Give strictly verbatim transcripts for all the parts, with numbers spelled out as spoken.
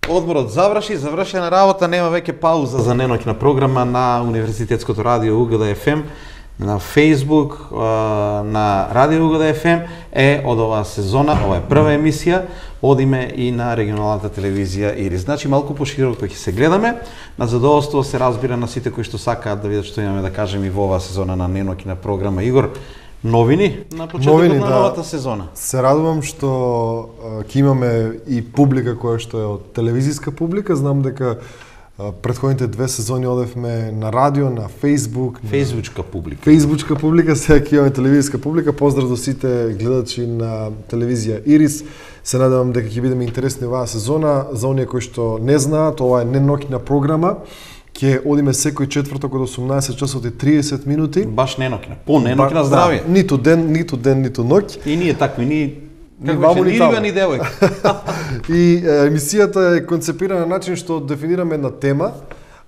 Одморот заврши, завршена работа, нема веќе пауза за неноќна програма на Универзитетското радио УГД еф ем, на Facebook, на Радио УГД еф ем е од оваа сезона, ова е прва емисија, одиме и на регионалната телевизија Ирис. Значи малку пошироко ќе се гледаме, на задоволство се разбира на сите кои што сакаат да видат што имаме да кажеме и во оваа сезона на неноќна програма. Игор, новини на почетокот новини, на да. новата сезона. Се радувам што ќе имаме и публика која што е од телевизиска публика. Знам дека а, претходните две сезони одевме на радио, на Facebook, Фејсбучка публика. Фејсбучка публика, сега ќе имаме телевизиска публика. Поздрав до сите гледачи на телевизија Ирис. Се надевам дека ќе бидеме интересни оваа сезона. За оние кои што не знаат, ова е неноќна програма. Ќе одиме секој четврток од осумнаесет часот и триесет минути. Баш неноќна, по неноќна здравје. Да, ниту ден, ниту ден, ниту ноќ. И ние такви, ни Ни како ваму, беше, ни ни таму. риба, ни девојка. И е, емисијата е концепирана на начин што дефинираме една тема.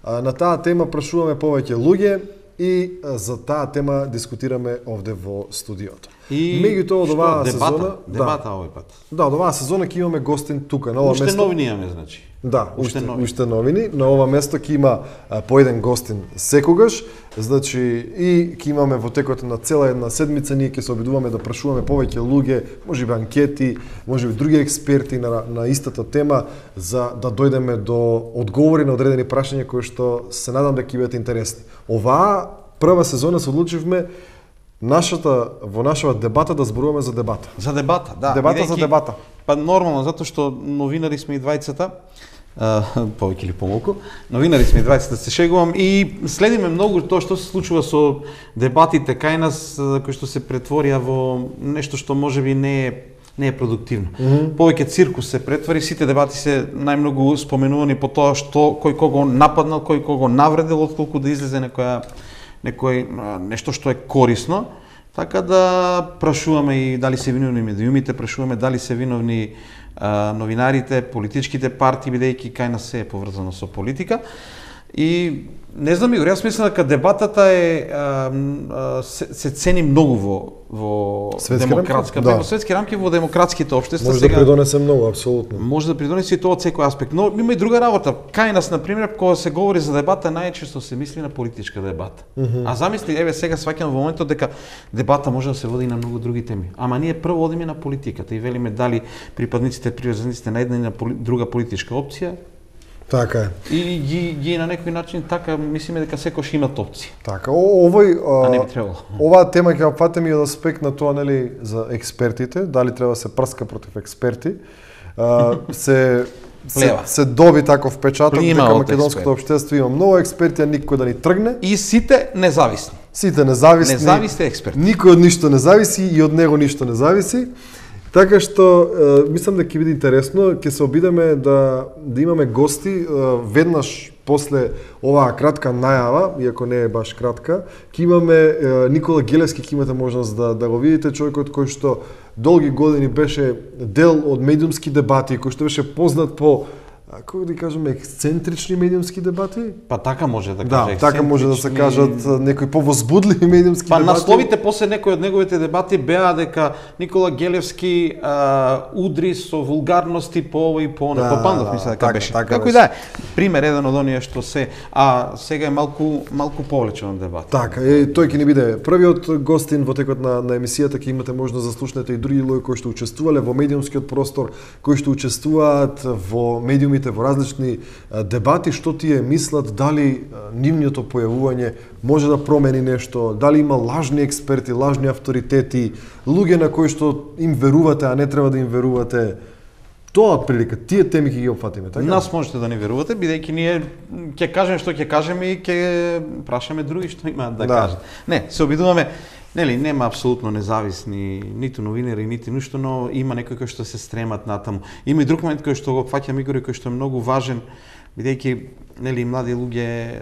А, на таа тема прашуваме повеќе луѓе и а, за таа тема дискутираме овде во студиото. И меѓутоа од што, оваа дебата, сезона, дебата овој пат. Да, од оваа сезона ќе имаме гостин тука на ова Уште место. новини имаме, значи. Да, Уште уште, новини. уште новини. На ова место ќе има а, по еден гостин секогаш. Значи и ќе имаме во текот на цела една седмица, ние ќе се обидуваме да прашуваме повеќе луѓе, можеби анкети, можеби други експерти на, на истата тема, за да дојдеме до одговори на одредени прашања кои што се надам дека ќе бидат интересни. Оваа прва сезона се одлучивме нашата во нашава дебата да зборуваме за дебата. За дебата, да. Дебата бидејќи- за дебата. Па нормално, затоа што новинари сме и двајцата, а, повеќе или помалку, новинари сме и двајцата, се шегувам, и следиме многу тоа што се случува со дебатите кај нас, а, кои што се претворија во нешто што можеби не е не е продуктивно. Mm -hmm. Повеќе циркус се претвори, сите дебати се најмногу споменувани по тоа што кој кого нападнал, кој кого навредил, отколку да излезе некоја некој а, нешто што е корисно. Така да прашуваме и дали се виновни медиумите, прашуваме дали се виновни а, новинарите, политичките партии, бидејќи кај нас се е поврзано со политика. И не знам, Игор, јас мислам дека дебатата е а, а, се, се цени многу во во Светски демократска, рамки? Да. во светски рамки, во демократските општества. Може да придонесе многу, апсолутно. Може да придонесе и тоа од секој аспект. Но има и друга работа. Кај нас, на пример, кога се говори за дебата, најчесто се мисли на политичка дебата. Mm -hmm. А замисли, еве сега сваќам во моментот дека дебата може да се води и на многу други теми. Ама ние прво одиме на политиката и велиме дали припадниците, приврзаниците на една и на поли, друга политичка опција. Така е. И ги, ги на некој начин така мислиме дека секој имат опции. Така, о, овој А не а, би требало. оваа тема ќе ја опфатиме и од аспект на тоа, нели, за експертите, дали треба да се прска против експерти. А, се се, Плева. се доби таков печаток Плима дека од македонското општество има многу експерти, а никој да ни тргне. И сите независни. Сите независни. Независни експерти. Никој од ништо не зависи и од него ништо не зависи. Така што е, мислам дека ќе биде интересно, ќе се обидеме да да имаме гости е, веднаш после оваа кратка најава, иако не е баш кратка, ќе имаме е, Никола Гелевски, ќе имате можност да да го видите, човекот кој што долги години беше дел од медиумски дебати, кој што беше познат по, а, како да кажеме, ексцентрични медиумски дебати. Па така може да Да, каже. така може да се ексцентрични- кажат некои повозбудливи медиумски Па дебати. насловите после некои од неговите дебати беа дека Никола Гелевски а, удри со вулгарности по ово и по оно. Да, По Пандов да, мисля дека така, беше. така Како и беше. да е. Пример еден од оние што се, а сега е малку малку повлечен дебат. Така, е, тој ќе ни биде првиот гостин во текот на, на емисијата, ќе имате можност да слушнете и други луѓе кои што учествувале во медиумскиот простор, кои што учествуваат во медиумите во различни а, дебати, што тие мислат, дали а, нивното појавување може да промени нешто, дали има лажни експерти, лажни авторитети, луѓе на кои што им верувате, а не треба да им верувате. Тоа прилика, тие теми ќе ги опфатиме, така? Нас можете да ни верувате, бидејќи ние ќе кажеме што ќе кажеме и ќе прашаме други што имаат да, Да. кажат. Не, се обидуваме. Нели, нема апсолутно независни ниту новинари, нити ништо, но има некои кои што се стремат натаму. Има и друг момент кој што го фаќам, Игор, кој што е многу важен, бидејќи нели млади луѓе е,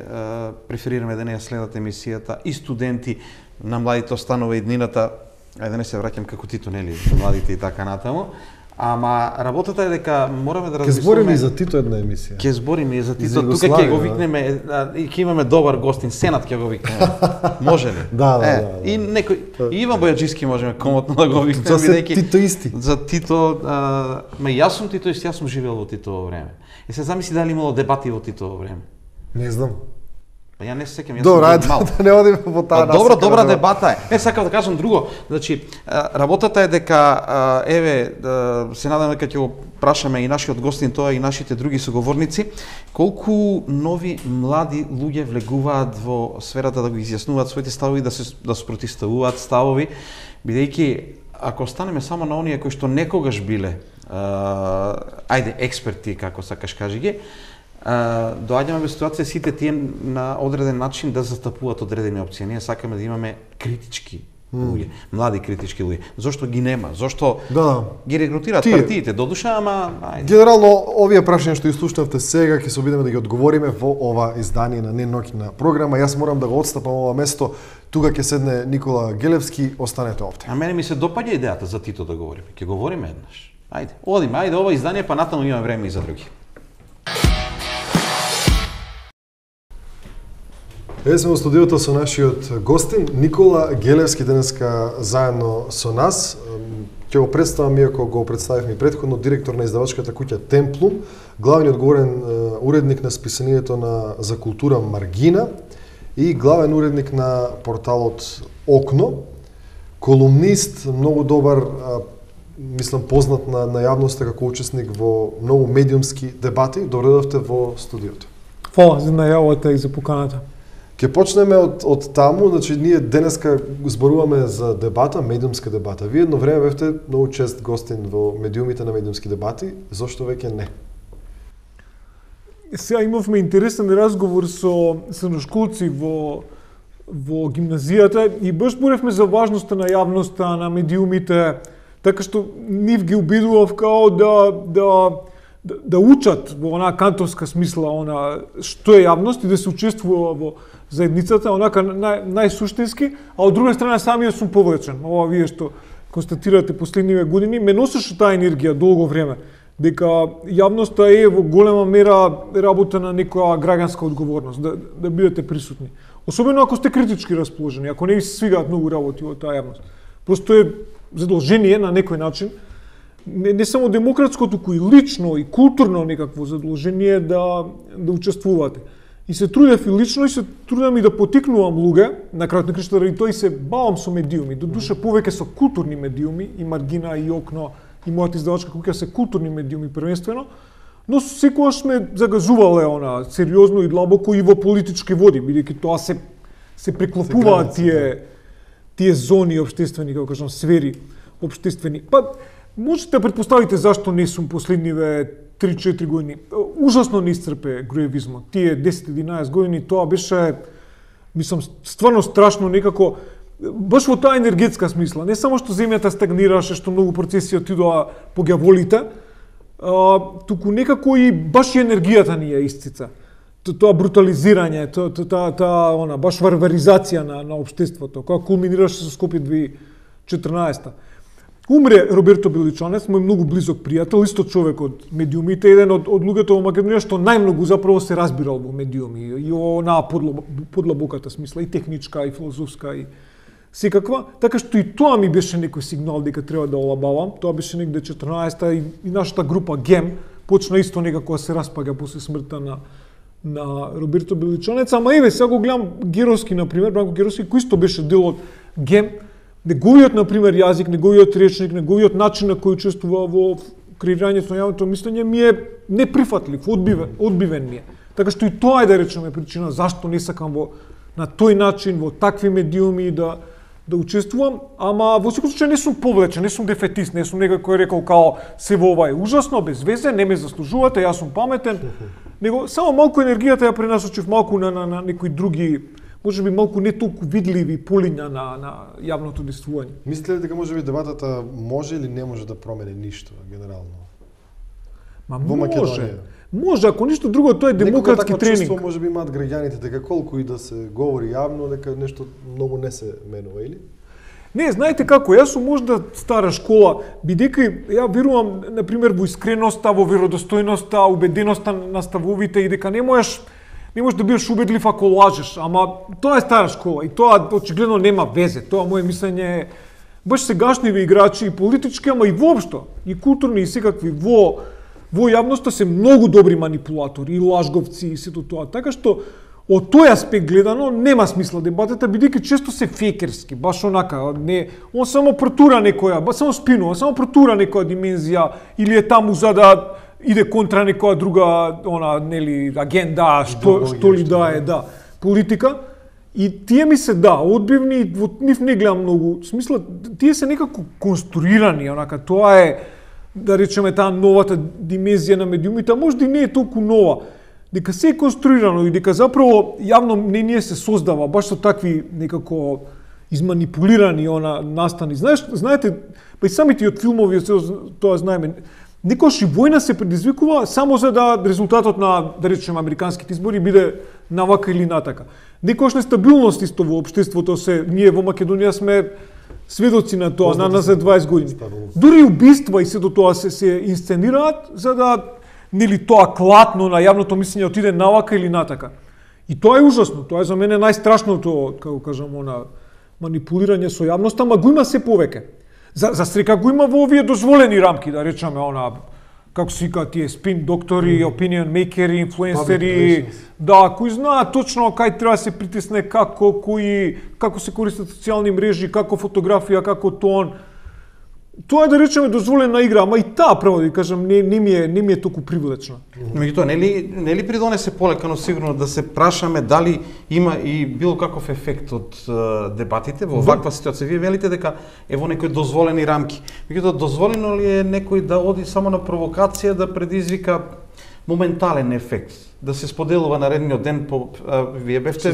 преферираме да не ја следат емисијата, и студенти, на младите останува иднината, ајде да не се враќам како Тито, нели, младите и така натаму. Ама работата е дека мораме да Ке размислиме. збориме и за Тито една емисија. Ќе збориме и за Тито, за тука ќе Југославија, го да. викнеме а, и ќе имаме добар гостин, Сенат ќе го викнеме. Може ли? Да, да, е, да, да. И некој и Иван Бојаджиски можеме комотно да го викнеме За се бидејќи Тито исти. за Тито, а, ма јас сум Тито ист, јас сум живеел во Титово време. И се замисли дали имало дебати во Титово време. Не знам. Па ја не се сеќам, јас Добро, сум ајде мал. да не одиме во таа Па, добра, насока добра на дебата е. Не, сакав да кажам друго. Значи, а, работата е дека, а, еве, а, се надам дека ќе го прашаме и нашиот гостин тоа и нашите други соговорници, колку нови млади луѓе влегуваат во сферата да го изјаснуваат своите ставови, да се да спротивставуваат ставови, бидејќи ако останеме само на оние кои што некогаш биле, а, ајде експерти како сакаш кажи ги, Uh, доаѓаме во ситуација сите тие на одреден начин да застапуваат одредени опции. Ние сакаме да имаме критички луѓе, млади критички луѓе. Зошто ги нема? Зошто Да. ги регрутираат Тие. партиите до душа, ама ајде. Генерално, овие прашања што изслушнавте сега, ќе се обидеме да ги одговориме во ова издание на Неноќна програма. Јас морам да го отстапам ова место. Тука ќе седне Никола Гелевски, останете овде. А мене ми се допаѓа идејата за Тито да говориме. Ќе говориме еднаш. Ајде, одиме, ајде ова издание, па натаму имаме време и за други. Еве сме во студиото со нашиот гостин Никола Гелевски, денеска заедно со нас. Ќе го представам, иако го представивме и претходно, директор на издавачката куќа Темплум, главни одговорен уредник на списанието на за култура Маргина и главен уредник на порталот Окно, колумнист, многу добар, мислам познат на, на јавноста како учесник во многу медиумски дебати. Добре дојдовте во студиото. Фала за најавата и за поканата. Ке почнеме од, од таму, значи ние денеска зборуваме за дебата, медиумска дебата. Вие едно време бевте многу чест гостин во медиумите на медиумски дебати, зошто веќе не? Сега имавме интересен разговор со средношколци во во гимназијата и баш зборевме за важноста на јавноста, на медиумите, така што нив ги убедував као да да да, да учат во онаа кантовска смисла, она што е јавност и да се учествува во заедницата, онака нај, најсуштински, а од друга страна самиот сум повлечен. Ова вие што констатирате последниве години, ме носеше таа енергија долго време, дека јавноста е во голема мера работа на некоја граѓанска одговорност, да, да бидете присутни. Особено ако сте критички расположени, ако не ви се свигаат многу работи во таа јавност. Просто е задолжение на некој начин, не, не само демократско, туку и лично и културно некакво задолжение да да учествувате. И се трудев и лично и се трудам и да потикнувам луѓе, на крајот на крајштата ради тој се бавам со медиуми, до душа повеќе со културни медиуми, и Маргина и Окно и мојата издавачка куќа се културни медиуми првенствено, но секогаш сме загазувале она сериозно и длабоко и во политички води, бидејќи тоа се се преклопуваат тие тие зони општествени, како кажам, сфери општествени. Па можете да претпоставите зашто не сум последниве три-четири години. Ужасно не исцрпе груевизмот. Тие десет-единаесет години тоа беше, мислам, стварно страшно некако, баш во таа енергетска смисла. Не само што земјата стагнираше, што многу процеси отидоа по ѓаволите, а, туку некако и баш и енергијата ни ја исцица. Тоа брутализирање, тоа та, та, она баш варваризација на на општеството, која кулминираше со Скопје две илјади и четрнаесета. Умре Роберто Беличанец, мој многу близок пријател, исто човек од медиумите, еден од, од луѓето во Македонија што најмногу заправо се разбирал во медиуми и онаа подлабоката смисла, и техничка, и филозофска, и секаква. Така што и тоа ми беше некој сигнал дека треба да олабавам. Тоа беше негде четрнаесета и, и нашата група Гем почна исто некако да се распаѓа после смртта на на Роберто Беличанец. Ама еве, сега го гледам Геровски, например, Бранко Геровски, кој исто беше дел од Гем. Неговиот, например, јазик, неговиот речник, неговиот начин на кој учествува во креирањето на јавното мислење ми е неприфатлив, одбивен, одбивен ми е. Така што и тоа е, да речеме, причина зашто не сакам во на тој начин, во такви медиуми да да учествувам, ама во секој случај не сум повлечен, не сум дефетист, не сум некој кој рекол као се во ова е ужасно, без везе, не ме заслужувате, јас сум паметен. Него само малку енергијата ја пренасочив малку на на, на некои други, може би малку не толку видливи полиња на на јавното действување. Мислите ли дека може би дебатата може или не може да промени ништо генерално? Ма во може. Македонија? Може, ако ништо друго, тоа е демократски Некој тренинг. чувство може би имаат граѓаните дека колку и да се говори јавно дека нешто многу не се менува или? Не, знаете како, јас сум можда стара школа, бидејќи ја верувам, на пример, во искреноста, во веродостојноста, убеденоста на ставовите и дека не можеш не можеш да бидеш убедлив ако лажеш, ама тоа е стара школа и тоа очигледно нема везе. Тоа мое мислење е баш сегашниве играчи и политички, ама и воопшто, и културни и секакви во во јавноста се многу добри манипулатори и лажговци и сето тоа. Така што од тој аспект гледано нема смисла дебатата, бидејќи често се фекерски, баш онака, не, он само протура некоја, ба само спинува, само протура некоја димензија или е таму за да иде контра некоја друга, она, нели, агенда, што, што ли да е, да, политика. И тие ми се, да, одбивни, во нив не гледам многу, смисла, тие се некако конструирани, онака, тоа е, да речеме, таа новата димензија на медиумите, а може да не е толку нова, дека се е конструирано и дека заправо јавно мнение се создава, баш со такви некако изманипулирани она настани. Знаеш, знаете, па и самите од филмови, тоа знаеме, некојаш и војна се предизвикува само за да резултатот на, да речеме, американските избори биде навака или натака. Некојаш нестабилност исто во општеството се, ние во Македонија сме сведоци на тоа, на назад дваесет години. Дури убиства и сето тоа се, се инсценираат за да нели тоа клатно на јавното мислење отиде навака или натака. И тоа е ужасно, тоа е за мене најстрашното, како кажам, она манипулирање со јавноста, ама го има се повеќе. За, за срека го има во овие дозволени рамки, да речеме, она, како се вика тие спин доктори, mm. opinion makeri, инфлуенсери, да, кои знаат точно кај треба да се притисне, како, кои, како се користат социјални мрежи, како фотографија, како тон. Тоа е, да речеме, дозволена игра, ама и таа, право да кажам, не, не, ми е, не ми е толку привлечна. Меѓутоа, нели нели придонесе полекано сигурно да се прашаме дали има и било каков ефект од uh, дебатите во ваква ситуација? Вие велите дека е во некои дозволени рамки. Меѓутоа, дозволено ли е некој да оди само на провокација да предизвика моментален ефект? Да се споделува наредниот ден по а, вие бевте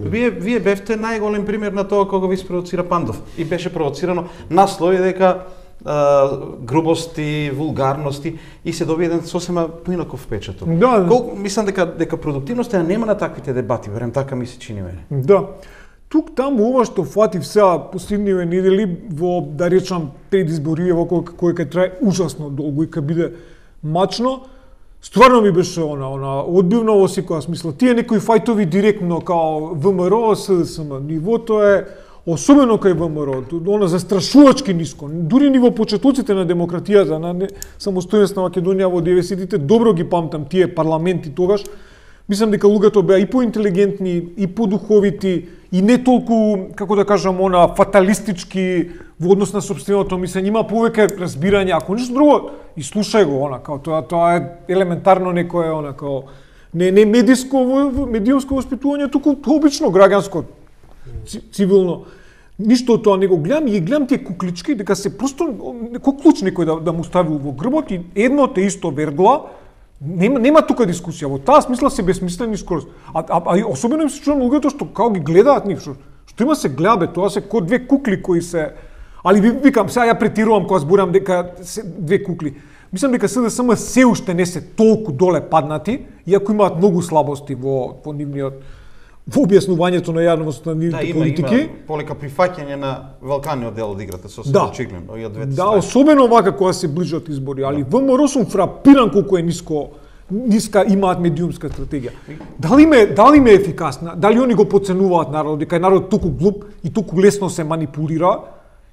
вие вие бевте најголем пример на тоа кога ви спровоцира Пандов и беше провоцирано наслови дека Uh, грубости, вулгарности и се доби еден сосема поинаков печаток. Да, Колку мислам дека дека продуктивноста нема на таквите дебати, верем така ми се чини мене. Да. Тук таму ова што фатив сега последниве недели во, да речам, предизбориве во кој кој ќе трае ужасно долго и ќе биде мачно, стварно ми беше она, она одбивно во секоја смисла. Тие некои фајтови директно као ВМРО, СДСМ, нивото е особено кај ВМРО, она застрашувачки ниско. Дури ни во почетоците на демократијата, на самостојност на Македонија во деветдесетите, добро ги памтам тие парламенти тогаш. Мислам дека луѓето беа и поинтелигентни, и подуховити, и не толку, како да кажам, она фаталистички во однос на сопственото мислење. Има повеќе разбирање, ако ништо друго, и слушај го, она, као тоа, тоа е елементарно некое, она, као, не, не медиско, медиумско воспитување, туку обично граѓанско, цивилно. Ништо од тоа не го гледам и ги гледам тие куклички, дека се просто некој клуч некој да, да му ставил во грбот и едно те исто вергла, нема, нема тука дискусија, во таа смисла се безсмислени скорост. А, а, а особено им се чувам луѓето што како ги гледаат нив, што, што има се гледа, тоа се ко две кукли кои се... Али викам, сега ја претирувам кога зборам дека се две кукли. Мислам дека СДСМ се уште не се толку доле паднати, иако имаат многу слабости во, во нивниот во објаснувањето на јавноста на нивните да, има, политики. Има полека прифаќање на Валканиот дел од играта, со да. очигледно, и од двете Да, страни. особено вака кога се ближат избори, али да. ВМРО сум фрапиран колку е ниско, ниска имаат медиумска стратегија. Дали ме, дали ме е ефикасна? Дали они го подценуваат народот, дека е народ толку глуп и толку лесно се манипулира?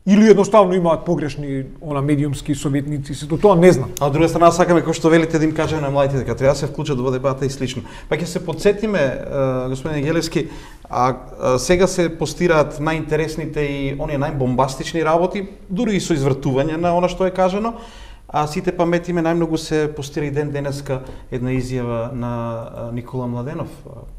Или едноставно имаат погрешни она медиумски советници, сето тоа не знам. А од друга страна сакаме кој што велите да им кажеме на младите дека треба да се вклучат во дебата и слично. Па ќе се потсетиме, господин Гелевски, а, а сега се постираат најинтересните и оние најбомбастични работи, дури и со извртување на она што е кажано. А сите паметиме најмногу се постира и ден денеска една изјава на Никола Младенов.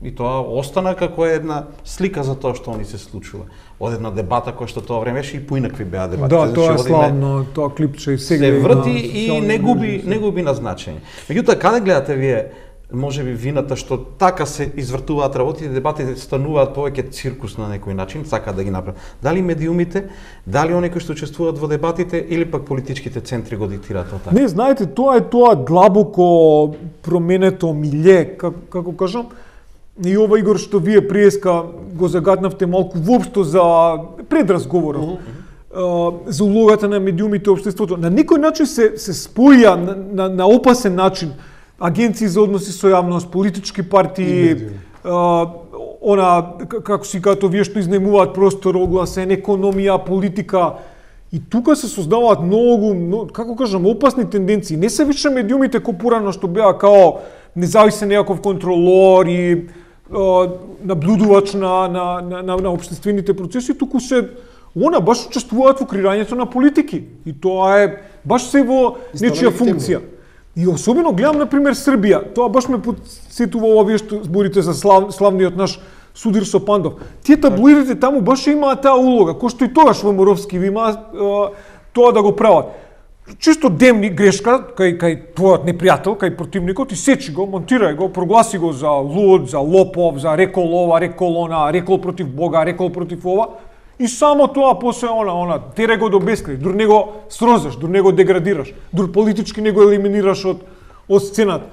И тоа остана како една слика за тоа што они се случува. Од една дебата која што тоа време беше и поинакви беа дебати. Да, тоа е славно, тоа клипче и сега се врти и не губи не губи на значење. Меѓутоа каде гледате вие може би вината што така се извртуваат работите, дебатите стануваат повеќе циркус на некој начин, сака да ги направат. Дали медиумите, дали оние кои што учествуваат во дебатите или пак политичките центри го диктираат тоа? Не, знаете, тоа е тоа длабоко променето милје, како, како кажам. И ова Игор што вие приеска го загаднавте малку воопшто за предразговорот. Uh -huh. за улогата на медиумите во општеството. На некој начин се се споја на, на, на опасен начин агенции за односи со јавност, политички партии, а, она како си като вие што изнемуваат простор, огласен, економија, политика. И тука се создаваат многу, многу, како кажам, опасни тенденции. Не се више медиумите ко порано што беа као независен некаков контролор и а, наблюдувач на на на на, на општествените процеси, туку се она баш учествуваат во креирањето на политики. И тоа е баш се во нечија функција. И особено гледам, например, Србија. Тоа баш ме подсетува овие што зборите за слав, славниот наш Судир Сопандов. Тие таблоидите таму баш имаат таа улога, кој што и тогаш во Моровски ви има тоа да го прават. Чисто демни грешка кај кај твојот непријател, кај противникот, и сечи го, монтирај го, прогласи го за луд, за лопов, за рекол ова, рекол она, рекол против Бога, рекол против ова. И само тоа после она, она, тере го до бескрај, дур не го срозаш, дур не го деградираш, дур политички не го елиминираш од, од сцената.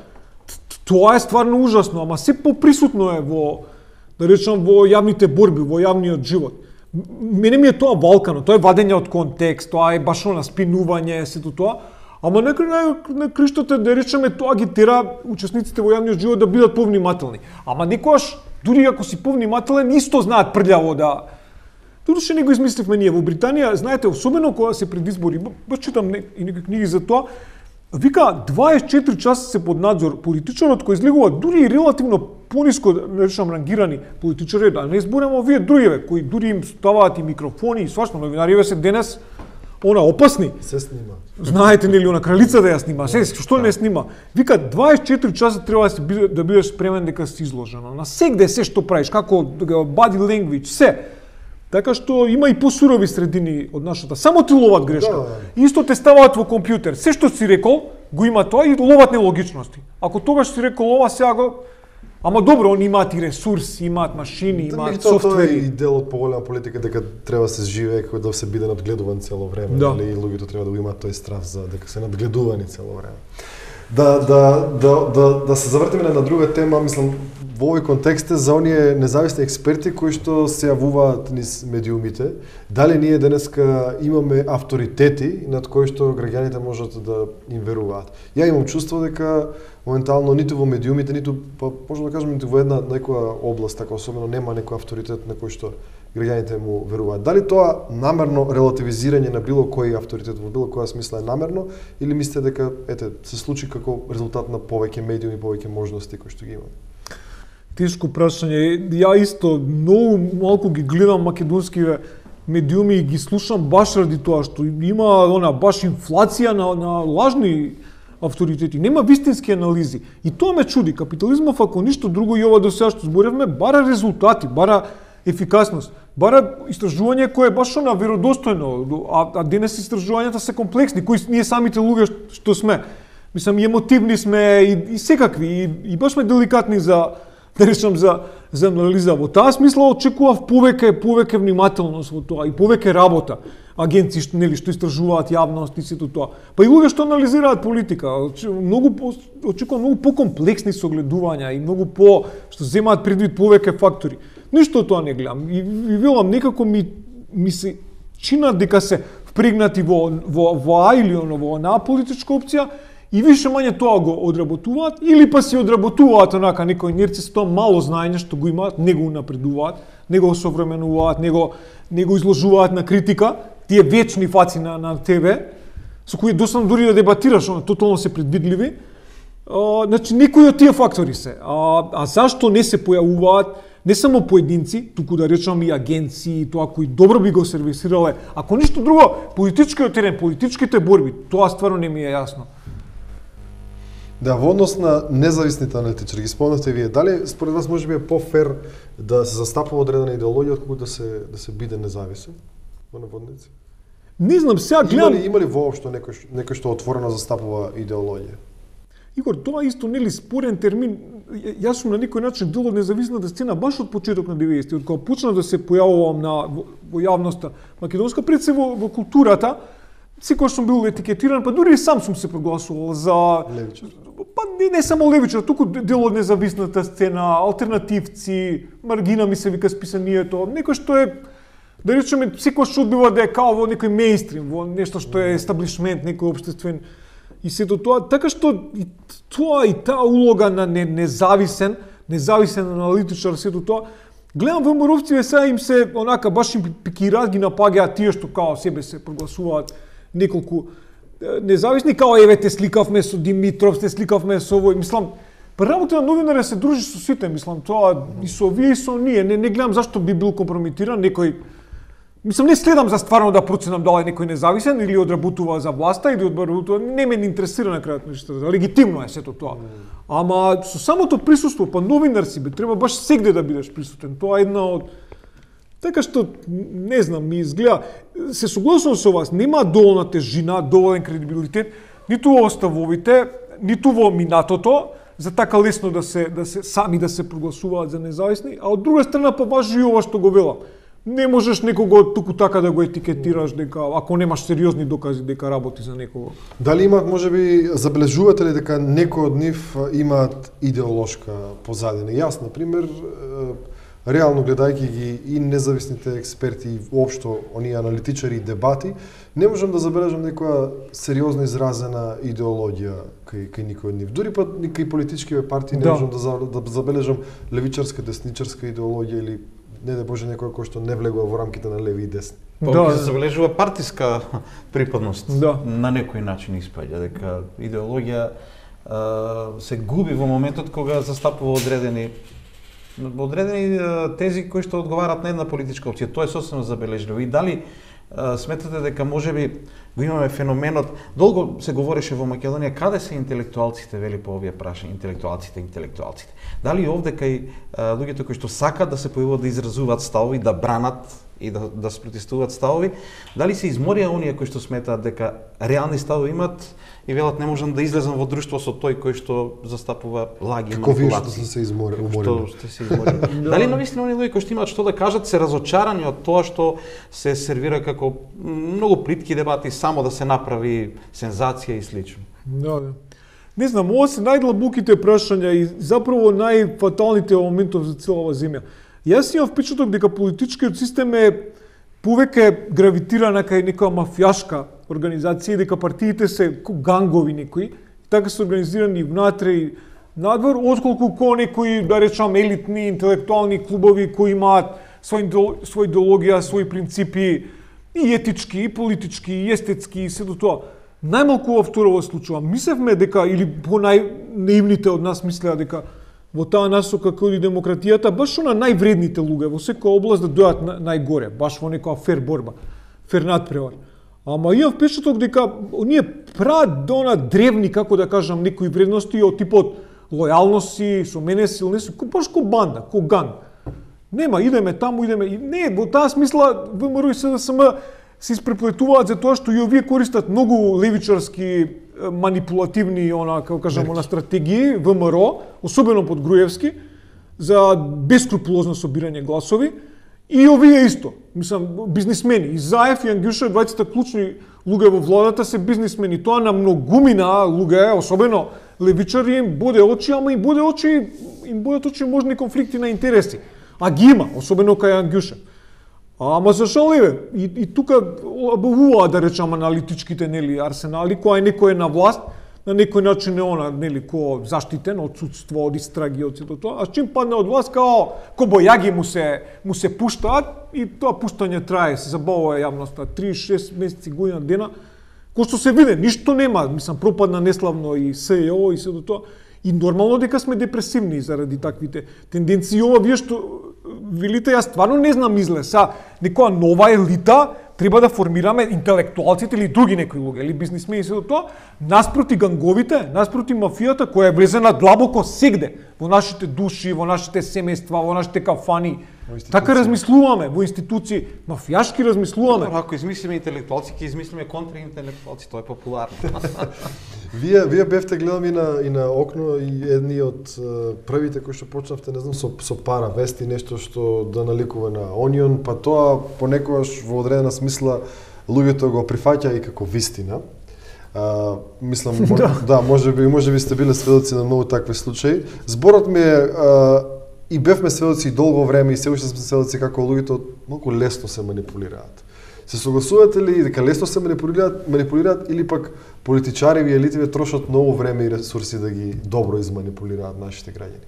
Тоа е стварно ужасно, ама се поприсутно е во, да речам, во јавните борби, во јавниот живот. Мене ми е тоа валкано, тоа е вадење од контекст, тоа е баш на спинување, сето тоа. Ама некој на, на криштото, да речеме, тоа ги тера учесниците во јавниот живот да бидат повнимателни. Ама некојаш, дури ако си повнимателен, исто знаат прљаво да... Тоа што не го измисливме ние во Британија, знаете, особено кога се пред избори, баш читам и некои книги за тоа, вика дваесет и четири часа се под надзор политичарот кој излегува дури и релативно пониско, да речам, рангирани политичари, да не зборам овие другиве кои дури им ставаат и микрофони и свашно, новинариве се денес она опасни. Се снима. Знаете нели она кралица да ја снима, се што не снима. Вика дваесет и четири часа треба да си да бидеш спремен дека си изложено. На сегде се што правиш, како body language, се. Така што има и посурови средини од нашата. Само ти ловат грешка. Да, да. Исто те ставаат во компјутер. Се што си рекол, го има тоа и ловат нелогичности. Ако тогаш си рекол ова, сега го... Ама добро, они имаат и ресурси, имаат машини, имаат да, софтвери. Тоа е и дел од поголема политика дека треба да се живее како да се биде надгледуван цело време, да. Или луѓето треба да го имаат тој страв за дека се надгледувани цело време. Да да да да да се завртиме на друга тема, мислам во овој контекст е за оние независни експерти кои што се јавуваат низ медиумите. Дали ние денеска имаме авторитети над кои што граѓаните можат да им веруваат? Ја имам чувство дека моментално ниту во медиумите, ниту, па, можам да кажам, ниту во една некоја област, така особено нема некој авторитет на кој што граѓаните му веруваат. Дали тоа намерно релативизирање на било кој авторитет во било која смисла е намерно, или мислите дека ете се случи како резултат на повеќе медиуми, повеќе можности кои што ги имаме? Тешко прашање. Ја исто многу малку ги гледам македонскиве медиуми и ги слушам баш ради тоа што има она баш инфлација на, на лажни авторитети, нема вистински анализи. И тоа ме чуди. Капитализмов, ако ништо друго и ова до сега што зборевме, бара резултати, бара ефикасност, бара истражување кое е баш на веродостојно, а, а денес истражувањата се комплексни, кои ние самите луѓе што сме. Мислам, и емотивни сме, и, и секакви, и, и баш сме деликатни за, да речам, за, за анализа. Во таа смисла очекував повеќе, повеќе внимателност во тоа и повеќе работа. Агенции што нели што истражуваат јавност и сето тоа. Па и луѓе што анализираат политика, многу по, очекувам многу покомплексни согледувања и многу по што земаат предвид повеќе фактори. Ништо тоа не гледам. И, и велам некако ми ми се чинат дека се впрегнати во во во А или оно во онаа политичка опција и више мање тоа го одработуваат или па си одработуваат онака некој инерција со тоа мало знаење што го имаат, не го унапредуваат, не го осовременуваат, не го не го изложуваат на критика. Тие вечни фаци на, на ТВ, со кои доста дури да дебатираш, оно, тотално се предвидливи. А, значи, некои од тие фактори се. А, а зашто не се појавуваат не само поединци, туку да речам и агенции, тоа кои добро би го сервисирале, ако ништо друго, политичкиот терен, политичките борби, тоа стварно не ми е јасно. Да, во однос на независните аналитичари, ги спомнавте вие, дали според вас може би е по-фер да се застапува одредена идеологија отколку да се да се биде независен? Во наводници? Не знам, сега гледам... Има ли, има ли воопшто некој, некој што отворено застапува идеологија? Игор, тоа исто нели спорен термин. Јас сум на некој начин дел од независната сцена баш од почеток на деветдесетти, од кога почна да се појавувам на во, во јавноста македонска, пред се во, во културата, секогаш сум бил етикетиран, па дури и сам сум се прогласувал за левичар. Па не, не само левичар, туку дел од независната сцена, алтернативци, маргина ми се вика списанието, некој што е да речеме секогаш одбива да е као во некој мејнстрим, во нешто што е естаблишмент, некој општествен и сето тоа, така што и тоа и таа улога на не, независен, независен аналитичар, сето тоа, гледам ВМРО-вци сега им се онака баш им пикираат, ги напагаат тие што као себе се прогласуваат неколку независни, као еве те сликавме со Димитров, те сликавме со овој, мислам, работа на новинар се дружи со сите, мислам, тоа и со вие и со ние, не, не гледам зашто би бил компрометиран некој. Мислам, не следам за стварно да проценам дали некој независен или одработува за власта или одработува, не ме интересира на крајот нешто. Легитимно е сето тоа. Ама со самото присуство, па новинар си бе, треба баш сегде да бидеш присутен. Тоа е една од така што не знам, ми изгледа, се согласувам со вас, нема доволна тежина, доволен кредибилитет ниту во ставовите, ниту во минатото, за така лесно да се да се сами да се прогласуваат за независни, а од друга страна па важи и ова што го велам. Не можеш некого туку така да го етикетираш дека ако немаш сериозни докази дека работи за некого. Дали имаат можеби забележувате ли дека некои од нив имаат идеолошка позадина? Јас на пример реално гледајќи ги и независните експерти и воопшто оние аналитичари и дебати, не можам да забележам некоја сериозно изразена идеологија кај кај никој од нив. Дури па кај политичките партии не да. можам да, да забележам левичарска, десничарска идеологија или не да боже некој кој што не влегува во рамките на леви и десни. Па да, се забележува партиска припадност. Да. На некој начин испаѓа дека идеологија а, се губи во моментот кога застапува одредени одредени тези кои што одговараат на една политичка опција. Тоа е сосема забележливо. И дали а, сметате дека можеби го имаме феноменот, долго се говореше во Македонија каде се интелектуалците, вели по овие прашања, интелектуалците, интелектуалците. Дали овде кај а, луѓето кои што сакаат да се појавуваат да изразуваат ставови, да бранат и да да спротестуваат ставови, дали се изморија оние кои што сметаат дека реални ставови имат и велат не можам да излезам во друштво со тој кој што застапува лаги и Како вие што Да. манипулации. се изморили? Што сте се изморили. Дали навистина оние луѓе кои што имаат што да кажат се разочарани од тоа што се сервира како многу плитки дебати само да се направи сензација и слично. Да, да. Не знам, ова се најдлабоките прашања и заправо најфаталните моментов за цела ова земја. Јас имам впечаток дека политичкиот систем е повеќе гравитира на кај некоја мафијашка организација и дека партиите се гангови некои, така се организирани внатре и надвор, отколку ко некои, да речам, елитни интелектуални клубови кои имаат своја своја идеологија, своји принципи и етички, и политички, и естетски и се до тоа. Најмалку во второ случува. Мислевме дека, или по најнаивните од нас мислеа дека во таа насока кој и демократијата, баш на највредните луѓе во секоја област да дојат на, најгоре, баш во некоја фер борба, фер надпревар. Ама имам впечаток дека оние прават до на древни, како да кажам, некои вредности од типот лојалност си, со мене силни си, баш ко банда, ко ганг. Нема, идеме таму, идеме. И не, во таа смисла ВМРО и СДСМ се испреплетуваат за тоа што и овие користат многу левичарски манипулативни, она, како кажам, на стратегии ВМРО, особено под Груевски, за бескрупулозно собирање гласови. И овие исто, мислам, бизнисмени. И Заев и Ангјуша, двајцата клучни луѓе во владата се бизнисмени. Тоа на многумина луѓе, особено левичари, им боде очи, ама им боде очи, им бодат очи можни конфликти на интереси. А ги има, особено кај Ангјуша. Ама за жал еве, и, и тука обуваа да речам аналитичките нели арсенали, која некој е на власт, на некој начин е она нели ко заштитен од судство, од истраги, од сето тоа. А чим падне од власт као кобојаги му се му се пуштаат и тоа пуштање трае, се забавува јавноста три шест месеци, година дена. Кој што се види, ништо нема, мислам пропадна неславно и СЕО и сето тоа. И нормално дека сме депресивни заради таквите тенденции. Ова вие што велите, јас стварно не знам излез. Са, некоја нова елита треба да формираме интелектуалците или други некои луѓе, или бизнисмени и се тоа, наспроти ганговите, наспроти мафијата која е влезена длабоко сегде во нашите души, во нашите семејства, во нашите кафани. Така размислуваме во институции, мафијашки размислуваме. Ако измислиме интелектуалци, ќе измислиме контраинтелектуалци, тоа е популарно. Вие вие бевте гледам и на и на окно и едни од првите кои што почнавте, не знам, со со пара вести, нешто што да наликува на Onion, па тоа понекогаш во одредена смисла луѓето го прифаќа и како вистина. А, мислам, да, да можеби можеби сте биле сведоци на многу такви случаи. Зборот ми е а, и бевме сведоци долго време и се уште сме сведоци како луѓето многу лесно се манипулираат. Се согласувате ли дека лесно се манипулираат, манипулираат или пак политичари и елитиве трошат многу време и ресурси да ги добро изманипулираат нашите граѓани?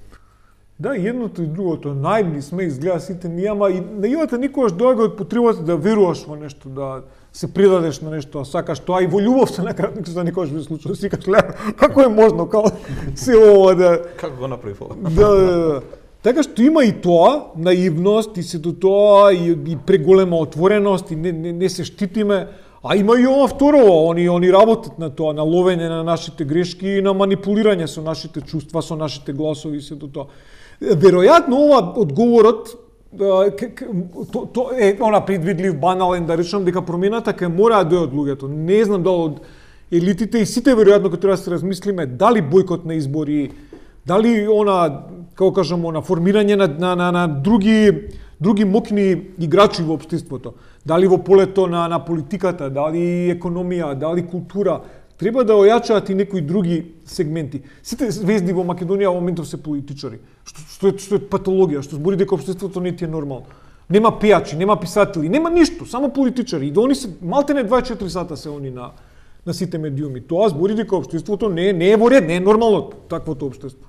Да, едното и другото. Наивни сме, изгледа сите ние, ама и наивата никогаш доаѓа од потребата да веруваш во нешто, да се придадеш на нешто, а сакаш тоа и во љубовта на кратник се никогаш не случува. Си кажеш, како е можно, како се ова да... Како го направи ова? Да, да, да. Така што има и тоа, наивност, и сето тоа, и, и преголема отвореност, и не, не, не се штитиме, а има и ова второ, они, они работат на тоа, на ловење на нашите грешки и на манипулирање со нашите чувства, со нашите гласови и сето тоа. Веројатно ова одговорот то, то е она предвидлив, банален, да речам дека промената ќе мора да дојде од луѓето. Не знам дали од елитите и сите веројатно кога треба да се размислиме дали бојкот на избори, дали она, како кажам, она формирање на, на, на, на други други моќни играчи во општеството, дали во полето на на политиката, дали економија, дали култура, треба да ојачаат и некои други сегменти. Сите звезди во Македонија во моментов се политичари, што, што, е, што е патологија, што збори дека општеството не ти е нормално. Нема пејачи, нема писатели, нема ништо, само политичари. И да они се малтене дваесет и четири сата се они на на сите медиуми. Тоа збори дека општеството не, не е во ред, не е нормално таквото општество.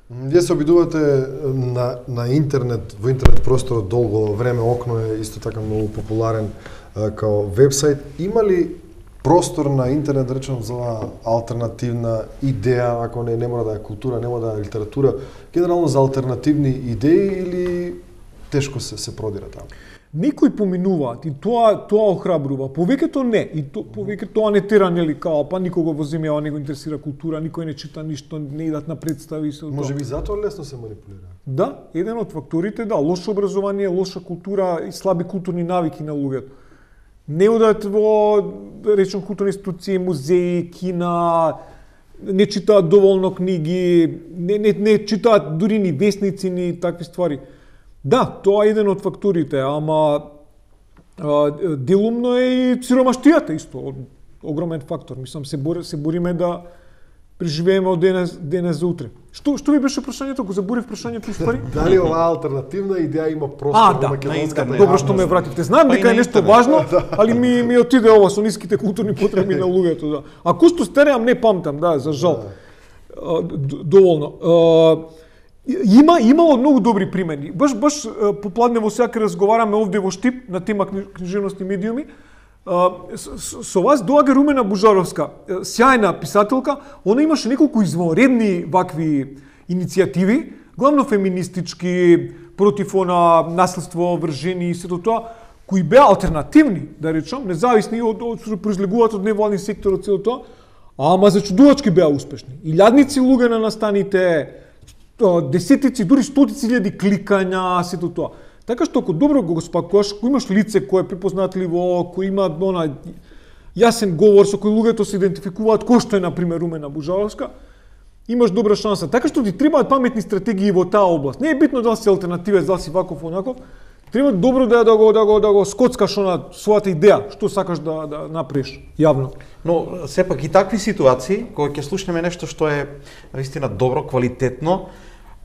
Вие се обидувате на, на интернет, во интернет просторот долго време, Окно е исто така многу популарен а, као вебсайт. Има ли простор на интернет, да речем, за алтернативна идеја, ако не, не мора да е култура, не мора да е литература, генерално за алтернативни идеи или тешко се, се продира таму? Некои поминуваат и тоа тоа охрабрува. Повеќето не, и то, повеќе тоа не тера, нели, као па никого во земјава не го интересира култура, никој не чита ништо, не идат на представи се. Може би затоа лесно се манипулира. Да, еден од факторите, да, лошо образование, лоша култура и слаби културни навики на луѓето. Не одат во, да речем, културни институции, музеи, кина, не читаат доволно книги, не, не, не читаат дури ни весници, ни такви ствари. Да, тоа е еден од факторите, ама а, делумно е и сиромаштијата исто, огромен фактор. Мислам, се, бори, се бориме да преживееме од денес, денес за утре. Што, што ви беше прашањето? Го заборив прашањето испари? Дали оваа алтернативна идеја има простор а, во да, македонската? Добро што ме вратите. Знам дека е нешто важно, али ми, ми отиде ова со ниските културни потреби на луѓето. Да. А кусто стереам не памтам, да, за жал. А, доволно. А, Има имало многу добри примери. Баш баш попладне во сега разговараме овде во Штип на тема книжевност и медиуми. Со, со вас доаѓа Румена Бужаровска, сјајна писателка. Она имаше неколку извонредни вакви иницијативи, главно феминистички, против она наследство врз жени и сето тоа, кои беа алтернативни, да речам, независни од, од што произлегуваат од невладни сектор од цело тоа, ама зачудувачки беа успешни. Илјадници луѓе на настаните, десетици, дури стотици илјади кликања, сето тоа. Така што ако добро го спакуваш, ако имаш лице кое е препознатливо, кој има она јасен говор со кој луѓето се идентификуваат, кој што е на пример Румена Бужаровска, имаш добра шанса. Така што ти требаат паметни стратегии во таа област. Не е битно дали си алтернативец, дали си ваков онаков, треба добро да да го да го да го скоцкаш она својата идеја, што сакаш да да направиш јавно. Но сепак и такви ситуации кога ќе слушнеме нешто што е наистина добро, квалитетно,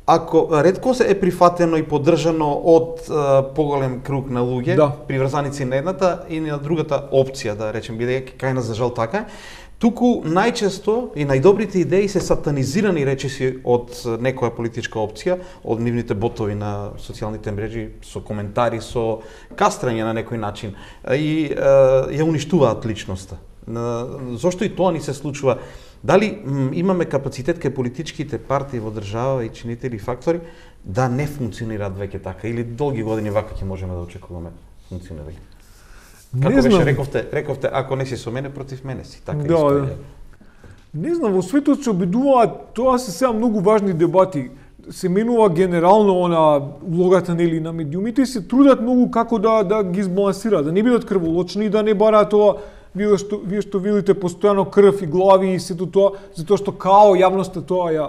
ако ретко се е прифатено и поддржано од а, поголем круг на луѓе, да, приврзаници на едната и на другата опција, да речем, бидејќи кај нас за жал така, туку најчесто и најдобрите идеи се сатанизирани речиси од некоја политичка опција, од нивните ботови на социјалните мрежи, со коментари, со кастрање на некој начин и а, ја уништуваат личноста. Зошто и тоа ни се случува? Дали м, имаме капацитет кај политичките партии во држава и чинители фактори да не функционираат веќе така или долги години вака ќе можеме да очекуваме функционирање? Како не беше знам. рековте, рековте ако не си со мене против мене си, така да, исто да. Не знам, во светот се обидуваат, тоа се сега многу важни дебати. Се менува генерално она улогата нели на медиумите и се трудат многу како да да ги избалансираат, да не бидат крволочни и да не бараат тоа вие што вие што видите постојано крв и глави и сето тоа, затоа што као јавноста тоа ја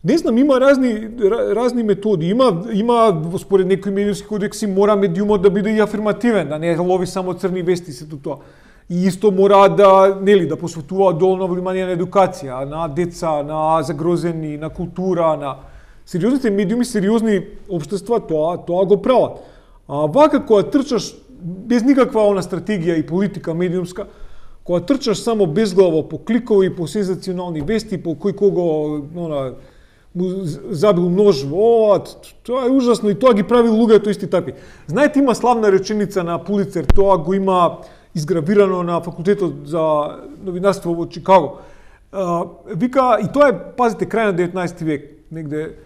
не знам, има разни разни методи. Има има според некои медиумски кодекси мора медиумот да биде и афирмативен, да не лови само црни вести и сето тоа. И исто мора да нели да посветува доволно внимание на едукација, на деца, на загрозени, на култура, на сериозните медиуми, сериозни општества тоа тоа го прават. А вака кога трчаш без никаква она стратегија и политика медиумска, кога трчаш само безглаво по кликови, по сензационални вести, по кој кого она му забил нож во, тоа е ужасно и тоа ги прави луѓето исти такви. Знаете, има славна реченица на Пулицер, тоа го има изгравирано на факултетот за новинарство во Чикаго. А, вика, и тоа е, пазите, крај на деветнаесети век, негде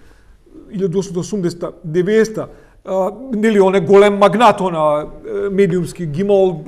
илјада осумстотини и осумдесета, деветдесета, а, нели, он е голем магнат, она медиумски, ги имал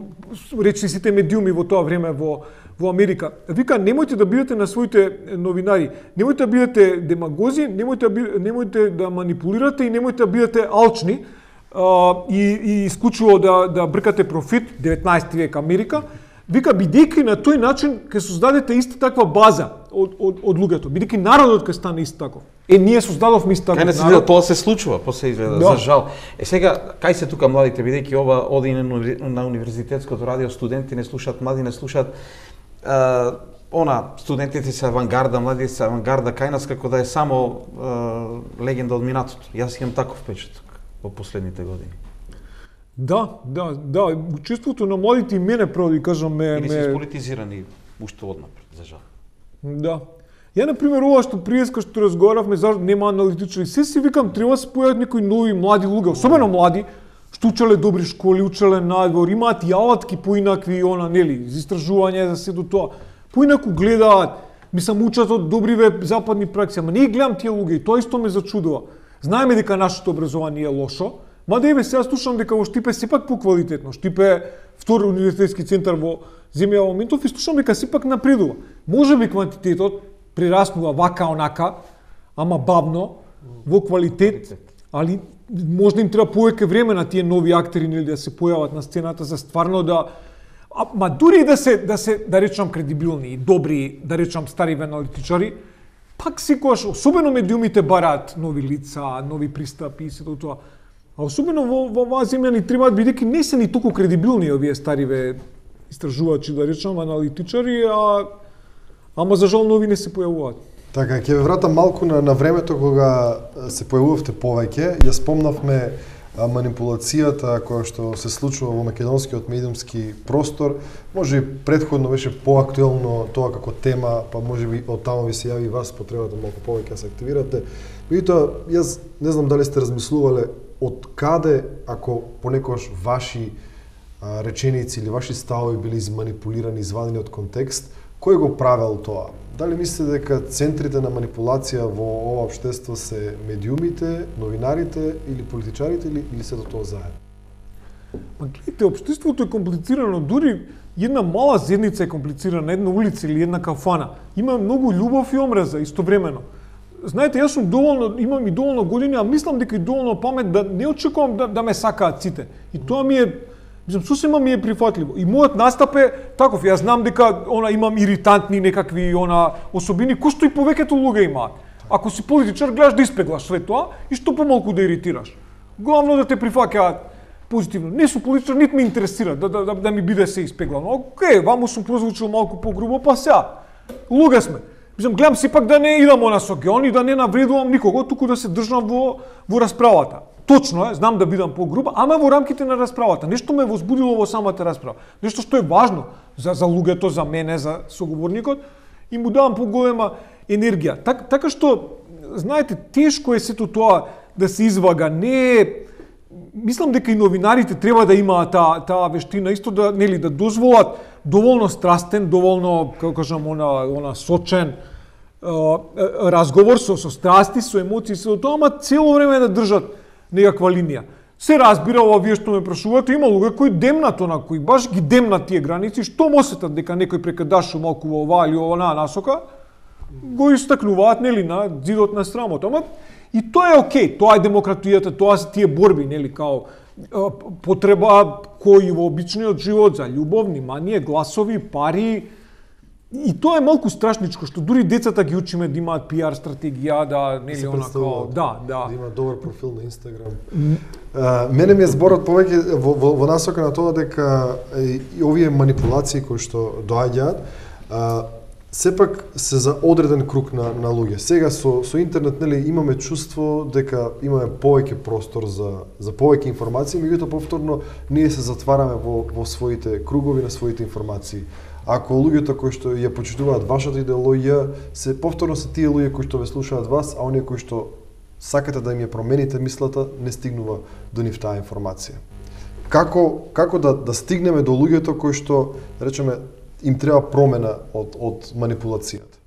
речни сите медиуми во тоа време во во Америка. Вика, немојте да бидете на своите новинари, немојте да бидете демагози, немојте да, немојте да манипулирате и немојте да бидете алчни а, и, и исклучиво да, да бркате профит, деветнаесети век Америка. Вика, бидејќи на тој начин ќе создадете иста таква база од, од, од луѓето, бидејќи народот ќе стане ист таков. Е, ние создадовме ист таков народ. Кај не се тоа се случува, после изгледа, да. За жал. Е, сега, кај се тука младите, бидејќи ова оди на универзитетското радио, студенти не слушаат, млади не слушаат, Uh, она, студентите се авангарда, младите се авангарда, кај нас како да е само uh, легенда од минатото. Јас имам таков впечаток во последните години. Да, да, да, чувството на младите и мене право да кажам ме... Или се сполитизирани уште однапред, за жал. Да. Ја, например, ова што приеска што разговаравме, зашто нема аналитичари, се си викам, треба да се појават некои нови млади луѓе, особено млади, што учеле добри школи, учеле надвор, имаат и алатки поинакви, она, нели, за истражување, за се до тоа. Поинаку гледаат, мислам, учат од добриве западни пракси, ама не ги гледам тие луѓе и тоа исто ме зачудува. Знаеме дека нашето образование е лошо, мада еве сега слушам дека во Штипе сепак поквалитетно. Штипе е втор универзитетски центар во земја во моментов и слушам дека сепак напредува. Може би квантитетот прераснува вака онака, ама бавно, во квалитет, али можда им треба повеќе време на тие нови актери нели да се појават на сцената за стварно да а, ма дури да се да се да речам кредибилни и добри, да речам стари аналитичари, пак секогаш особено медиумите бараат нови лица, нови пристапи и сето тоа. А особено во во оваа земја ни требаат бидејќи не се ни толку кредибилни овие стариве истражувачи, да речам аналитичари, а ама за жал нови не се појавуваат. Така, ќе ве вратам малку на, на времето кога се појавувавте повеќе. Ја спомнавме а, манипулацијата која што се случува во македонскиот медиумски простор. Може би претходно беше поактуелно тоа како тема, па може би од таму ви се јави вас потребата малку повеќе да се активирате. Меѓутоа, јас не знам дали сте размислувале од каде, ако понекогаш ваши а, реченици или ваши ставови били изманипулирани, извадени од контекст, кој го правел тоа? Дали мислите дека центрите на манипулација во ова општество се медиумите, новинарите или политичарите или, или сето тоа заедно? Ма гледайте, општеството е комплицирано, дури една мала зедница е комплицирана, една улица или една кафана. Има многу љубов и омраза истовремено. Знаете, јас сум доволно, имам и доволно години, а мислам дека и доволно памет да не очекувам да, да ме сакаат сите. И тоа ми е, мислам, сосема ми е прифатливо. И мојот настап е таков, јас знам дека она имам иритантни некакви она особини кои што и повеќето луѓе имаат. Ако си политичар, гледаш да испеглаш све тоа и што помалку да иритираш. Главно да те прифаќаат позитивно. Не сум политичар, нит ме интересира да, да, да, да ми биде се испеглано. Океј, ваму сум прозвучил малку погрубо, па сега. Луѓе сме. Мислам, гледам сепак да не идам она со геон и да не навредувам никого, туку да се држам во, во расправата. Точно е, знам да бидам погруба, ама во рамките на расправата. Нешто ме возбудило во самата расправа. Нешто што е важно за, за луѓето, за мене, за соговорникот, и му давам поголема енергија. Так, така што, знаете, тешко е сето тоа да се извага. Не е... Мислам дека и новинарите треба да имаат таа таа вештина, исто да, нели, да дозволат доволно страстен, доволно, како кажам, она, она сочен е, разговор со, со страсти, со емоции, со тоа, ама цело време да држат некаква линија. Се разбира, ова вие што ме прашувате, има луѓе кои демнат она, кои баш ги демнат тие граници, што осетат дека некој прекадашува малку во оваа или оваа насока, го истакнуваат, нели, на зидот на срамото. Ама и тоа е окей, тоа е демократијата, тоа се тие борби, нели, као потреба кои во обичниот живот за љубов, внимание, гласови, пари. И тоа е малку страшничко, што дури децата ги учиме да имаат пиар стратегија, да, нели, она као, да, да. Да имаат добар профил на Инстаграм. Uh, мене ми е зборот повеќе во, во, во насока на тоа дека и овие манипулации кои што доаѓаат, uh, сепак се за одреден круг на на луѓе. Сега со со интернет, нели, имаме чувство дека имаме повеќе простор за за повеќе информации, меѓутоа повторно ние се затвараме во во своите кругови на своите информации. Ако луѓето кои што ја почитуваат вашата идеологија, се повторно се тие луѓе кои што ве слушаат вас, а оние кои што сакате да им ја промените мислата, не стигнува до нив таа информација. Како како да да стигнеме до луѓето кои што, да речеме, им треба промена од од манипулацијата?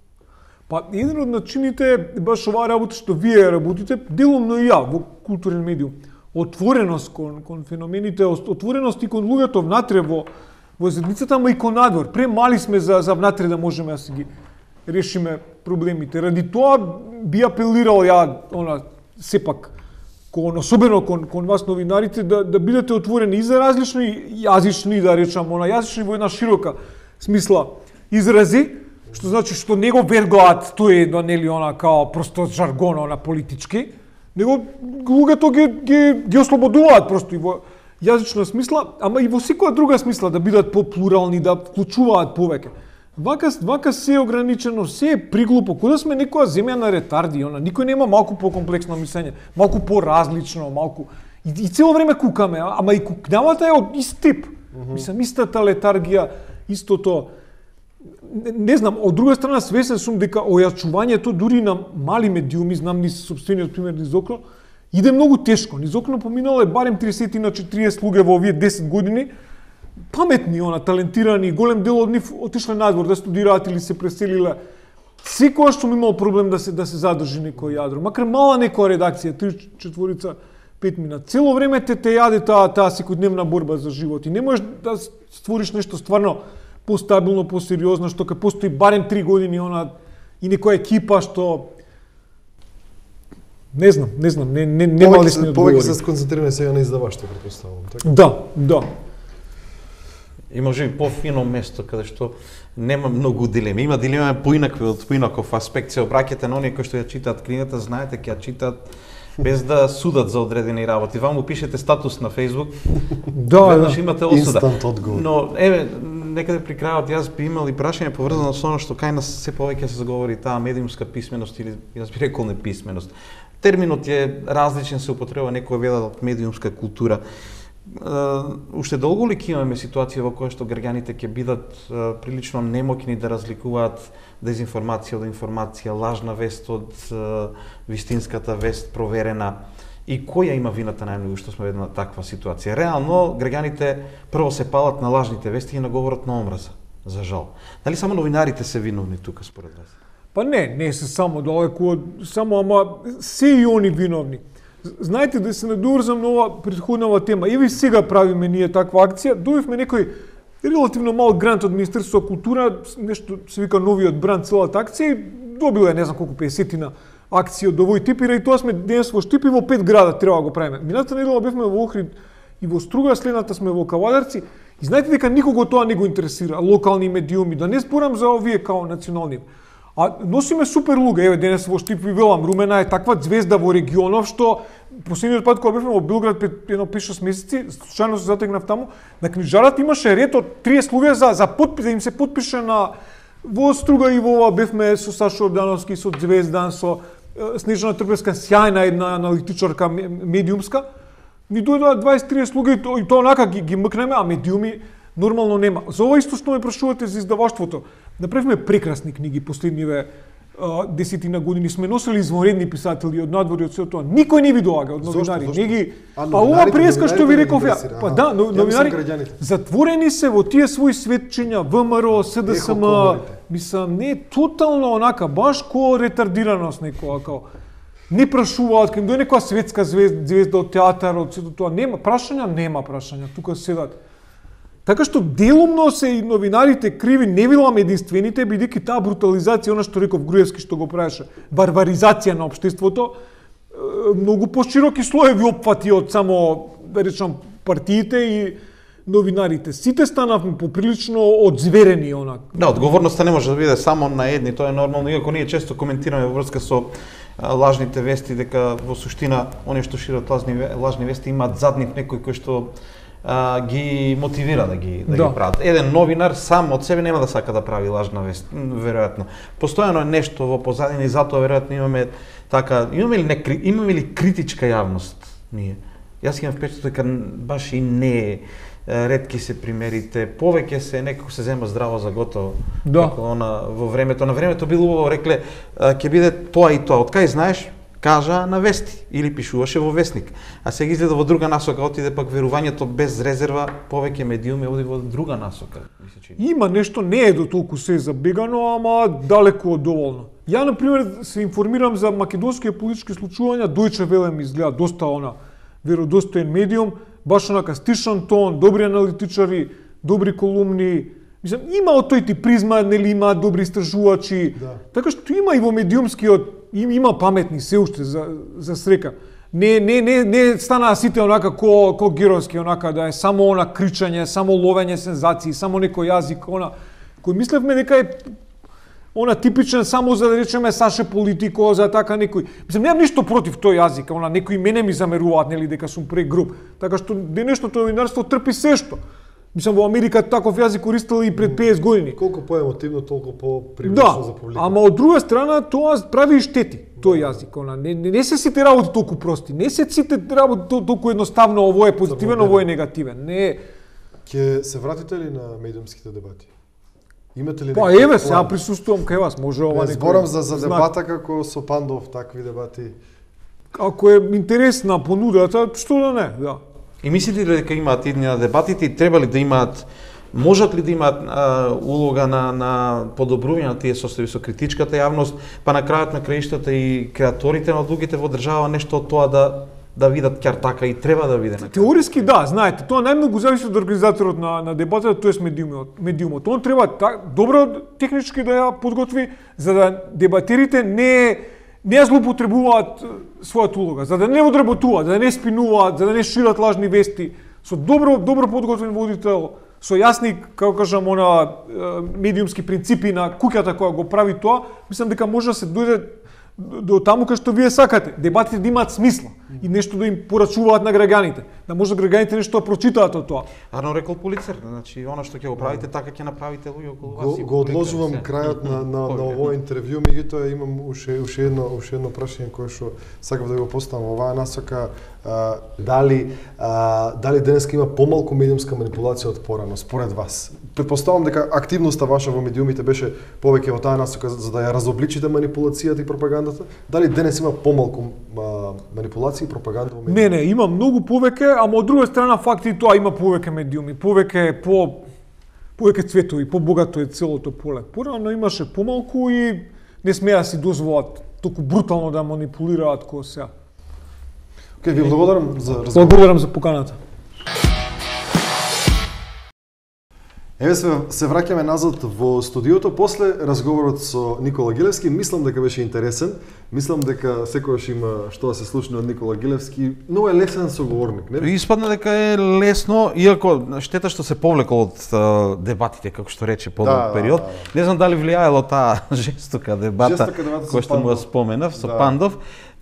Па еден од начините е баш оваа работа што вие работите, делумно и ја во културен медиум. Отвореност кон кон феномените, отвореност и кон луѓето внатре во во заедницата, ама и кон надвор. Премали сме за за внатре да можеме да си ги решиме проблемите. Ради тоа би апелирал ја она сепак кон особено кон кон вас новинарите да да бидете отворени и за различни јазични, да речам, она јазични во една широка смисла изрази, што значи што не го вергаат тој да нели она као просто жаргон на политички, него луѓето ги ги ги ослободуваат просто и во јазична смисла, ама и во секоја друга смисла да бидат поплурални, да вклучуваат повеќе. Вака вака се е ограничено, се е приглупо, кога сме некоја земја на ретарди, она никој нема малку покомплексно мислење, малку поразлично, малку и, и цело време кукаме, ама и кукнавата е од ист тип. Mm -hmm. Мислам истата летаргија, истото. Не, не знам, од друга страна свесен сум дека ојачувањето дури на мали медиуми, знам низ собствениот пример низ окно, иде многу тешко. Низ окно поминало е барем триесет на четириесет луѓе во овие десет години, паметни, она, талентирани, голем дел од нив отишле надвор да студираат или се преселиле. Секогаш сум имал проблем да се да се задржи некој јадро, макар мала некоја редакција, три, четворица, пет мина. Цело време те те јаде таа таа секојдневна борба за живот и не можеш да створиш нешто стварно постабилно, посериозно, што ке постои барем три години она и некоја екипа што не знам, не знам, не не нема лесни одговори. Повеќе се сконцентрираме сега на издаваштво, претпоставувам, така? Да, да. И може би пофино место каде што нема многу дилеми. Има дилема поинакви од поинаков аспект. Се обраќате на оние кои што ја читаат книгата, знаете ќе ја читаат без да судат за одредени работи. Вам му пишете статус на Facebook, да, веднаш да. имате осуда. Инстант одговор. Но еве некаде при крајот јас би имал и прашање поврзано со оно што кај нас се повеќе се заговори таа медиумска писменост или јас би рекол неписменост. Терминот е различен, се употреба некој велат медиумска култура. Uh, уште долго ли ќе имаме ситуација во која што граѓаните ќе бидат uh, прилично немоќни да разликуваат дезинформација од информација, лажна вест од uh, вистинската вест проверена, и која има вината најмногу што сме во една таква ситуација? Реално граѓаните прво се палат на лажните вести и на говорот на омраза, за жал. Дали само новинарите се виновни тука според вас? Па не, не се само далеку од само, ама се и они виновни. Знаете, да се надоврзам на ова претходнава тема, еве сега правиме ние таква акција, добивме некој релативно мал грант од Министерството за култура, нешто се вика новиот бранд, целата акција, и добила е не знам колку песетина акција од овој тип, и тоа сме денес во Штип и во пет града треба да го правиме. Минатата недела бевме во Охрид и во Струга, следната сме во Кавадарци, и знаете дека никого тоа не го интересира, локални медиуми, да не зборам за овие као национални. А носиме супер луѓе, еве денес во Штип ви велам, Румена е таква звезда во регионов што последниот пат кога бевме во Белград пред едно пет-шест месеци, случајно се затегнав таму, на книжарат имаше ред од триесет луѓе за за подпис, да им се подпише на во Струга и во ова бевме со Сашо Ордановски, со Звездан, со Снежана Трпевска, сјајна една аналитичарка медиумска. Ни дојдоа дваесет-триесет луѓе и тоа онака ги, ги мкнеме, а медиуми нормално нема. За ова исто што ме прашувате за издаваштвото. Направивме прекрасни книги последниве десетина години, сме носели извонредни писатели од надвор и од сето тоа. Никој не ви доаѓа од новинари. Зошто? Не ги А, па ова преска што ви реков ја. интересира, Па аха. да, но, Ја новинари мислам граѓаните. затворени се во тие своји светчиња, ВМРО, СДСМ, коморите. мислам не тотално онака баш ко ретардираност некоја као не прашуваат, кога им дојде некоја светска звезда, звезда од театар, од сето тоа, нема прашања, нема прашања, тука седат. Така што делумно се и новинарите криви, не билам единствените, бидејќи таа брутализација, она што реков Груевски што го правеше, барбаризација на општеството, многу пошироки слоеви опфати од само, да речам, партиите и новинарите. Сите станавме поприлично одзверени онак. Да, одговорноста не може да биде само на едни, тоа е нормално, иако ние често коментираме во врска со лажните вести, дека во суштина оние што шират лажни, лажни вести имаат заднив некој кој што а, ги мотивира да ги да, Да. ги прават. Еден новинар сам од себе нема да сака да прави лажна вест, веројатно. Постојано е нешто во позадина и затоа веројатно имаме така, имаме ли не имаме ли критичка јавност ние? Јас имам впечаток дека баш и не е, ретки се примерите, повеќе се некако се зема здраво за готово. Да. Како она во времето, на времето било убаво рекле ќе биде тоа и тоа. Од кај знаеш? Кажа на вести или пишуваше во вестник. А сега изгледа во друга насока, отиде пак верувањето без резерва, повеќе медиуми оди во друга насока, ми се чини. Има нешто, не е до толку се забегано, ама далеку од доволно. Ја, например, се информирам за македонските политички случувања, Deutsche Welle ми изгледа доста она веродостоен медиум, баш онака стишан тон, добри аналитичари, добри колумни. Мислам, има од тој тип призма, нели има добри истражувачи. Да. Така што има и во медиумскиот, им, има паметни се уште за, за срека. Не, не, не, не станаа сите онака ко, ко геројски, онака да е само она кричање, само ловење сензации, само некој јазик, она, кој мислевме дека е она типичен само за да речеме Саше Политико, за така некој. Мислам, немам ништо против тој јазик, она некои мене ми замеруваат, нели, дека сум прегруп. Така што денешното новинарство трпи се што. Мислам, во Америка таков јазик користел и пред петдесет години. Колку поемотивно, толку по-привлечно Да, за публика. ама од друга страна тоа прави и штети, тој јазик. Она, не, не, не се сите работи толку прости, не се сите работи тол- толку едноставно, ово е позитивен, ово е негативен. Не. Ќе се вратите ли на медиумските дебати? Имате ли Па некој еве, план? сега присуствувам кај вас, може ова Не некој зборам за, за знак. дебата како со Пандов, такви дебати. Ако е интересна понудата, што да не, да. И мислите ли дека имаат идни на дебатите и треба ли да имаат, можат ли да имаат а, улога на, на подобрување на тие состојби со критичката јавност, па на крајот на краиштата и креаторите на одлугите во држава нешто од тоа да да видат ќартака и треба да биде на крај. Теориски да, знаете, тоа најмногу зависи од организаторот на, на дебатата, тоест медиумот. медиумот. Он треба так, добро технички да ја подготви, за да дебатерите не не ја злоупотребуваат својата улога, за да не одработуваат, за да не спинуваат, за да не шират лажни вести, со добро добро подготвен водител, со јасни, како кажам, она медиумски принципи на куќата која го прави тоа, мислам дека може да се дојде до таму кај што вие сакате, дебатите да имаат смисла и нешто да им порачуваат на граѓаните, да може граѓаните нешто да прочитаат од тоа. Арно рекол Полицер, значи она што ќе го правите така ќе направите луѓе околу вас. Го, и го публика, одложувам се. крајот на, на, на Повеќе. овој интервју, меѓутоа имам уште уште едно уште едно прашање кое што сакав да го поставам во оваа насока. А, дали а, дали денеска има помалку медиумска манипулација од порано според вас? Претпоставам дека активноста ваша во медиумите беше повеќе во таа насока за да ја разобличите манипулацијата и пропагандата. Дали денес има помалку а, манипулација и пропаганда во медиумите? Не, не, има многу повеќе, ама од друга страна факти тоа има повеќе медиуми, повеќе по повеќе цветови, побогато е целото поле. Порано имаше помалку и не смеа си дозволат толку брутално да манипулираат кој сега. Океј, ви благодарам за разговор. Благодарам за поканата. Еве се, се враќаме назад во студиото после разговорот со Никола Гилевски. Мислам дека беше интересен. Мислам дека секогаш има што да се слушне од Никола Гилевски. Многу е лесен соговорник, не? Испадна дека е лесно, иако штета што се повлекол од а, дебатите, како што рече по Да, да, период. да, да. Не знам дали влијаело таа жестока дебата, Жестока дебата со која што му ја Пандов. споменав, со Да. Пандов.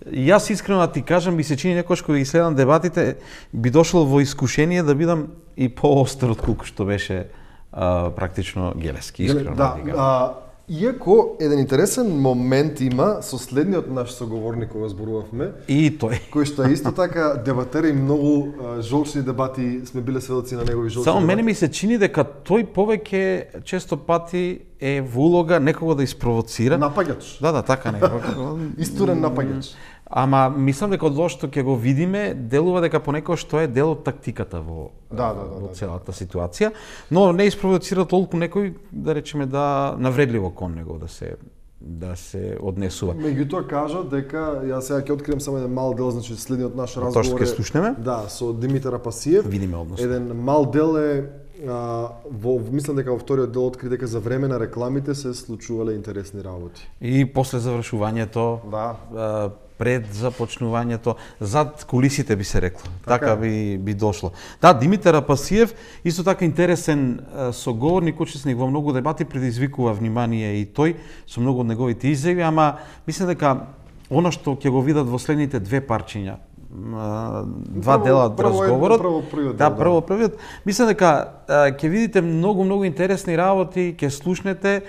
Јас искрено да ти кажам, ми се чини некојаш кога ги следам дебатите, би дошло во искушение да бидам и поостар од колку што беше а, практично Гелевски, искрено Да, ти кажам. а, иако еден интересен момент има со следниот наш соговорник кога зборувавме, И тој. кој што е исто така дебатер и многу а, жолчни дебати, сме биле сведоци на негови жолчни Само дебати. мене ми се чини дека тој повеќе често пати е во улога некого да испровоцира. Напаѓач. Да, да, така некако. Истурен напаѓач. Ама мислам дека од тоа што ќе го видиме, делува дека понекогаш тоа е дел од тактиката во Да, да, да, во да. целата ситуација, но не испровоцира толку некој да речеме да навредливо кон него да се да се однесува. Меѓутоа кажа дека јас сега ќе открием само еден мал дел, значи следниот наш Тоа разговор што ќе слушнеме? Да, со Димитар Апасиев. Видиме односно. Еден мал дел е а, во мислам дека во вториот дел откри дека за време на рекламите се случувале интересни работи. И после завршувањето, Да. а, пред започнувањето, зад кулисите би се рекло. Така Така, е. би би дошло. Да, Димитар Апасиев исто така интересен а, соговорник, учесник во многу дебати, предизвикува внимание и тој со многу од неговите изјави, ама мислам дека она што ќе го видат во следните две парчиња, два дела од разговорот. Прво првиот Да, дел, да. прво првиот. Мислам дека ќе видите многу многу интересни работи, ќе слушнете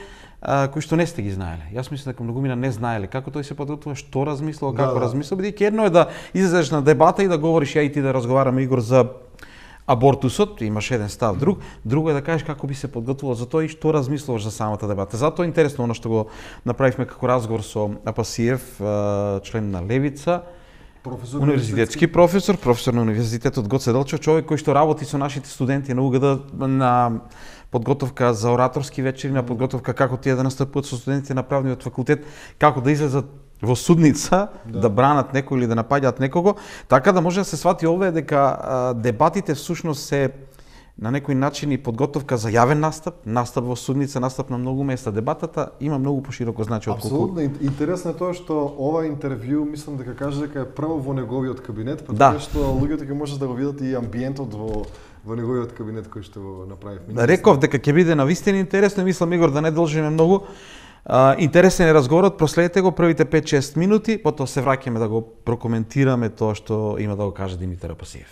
кои што не сте ги знаеле. Јас мислам дека многумина не знаеле како тој се подготвува, што размислува, како Да, да. размислува, бидејќи едно е да излезеш на дебата и да говориш ја и ти да разговараме Игор за абортусот, имаш еден став друг, друго е да кажеш како би се подготвувал за тоа и што размислуваш за самата дебата. Затоа е интересно оно што го направивме како разговор со Апасиев, член на Левица, Професор универзитетски професор, професор на Универзитетот Гоце Делчев, човек кој што работи со нашите студенти на УГД на подготовка за ораторски вечери, на подготовка како тие да настапуваат со студентите на правниот факултет, како да излезат во судница, да, да бранат некој или да напаѓаат некого, така да може да се свати овде дека а, дебатите всушност се на некој начин и подготовка за јавен настап, настап во судница, настап на многу места. Дебатата има многу пошироко значење од колку. Апсолутно. Интересно е тоа што ова интервју, мислам дека каже дека е прво во неговиот кабинет, па Да. така што луѓето ќе можат да го видат и амбиентот во во неговиот кабинет кој што го направивме. Реков дека ќе биде навистина интересно, мислам Игор да не должиме многу. А, интересен е разговорот, проследете го првите пет-шест минути, потоа се враќаме да го прокоментираме тоа што има да го каже Димитар Апасиев.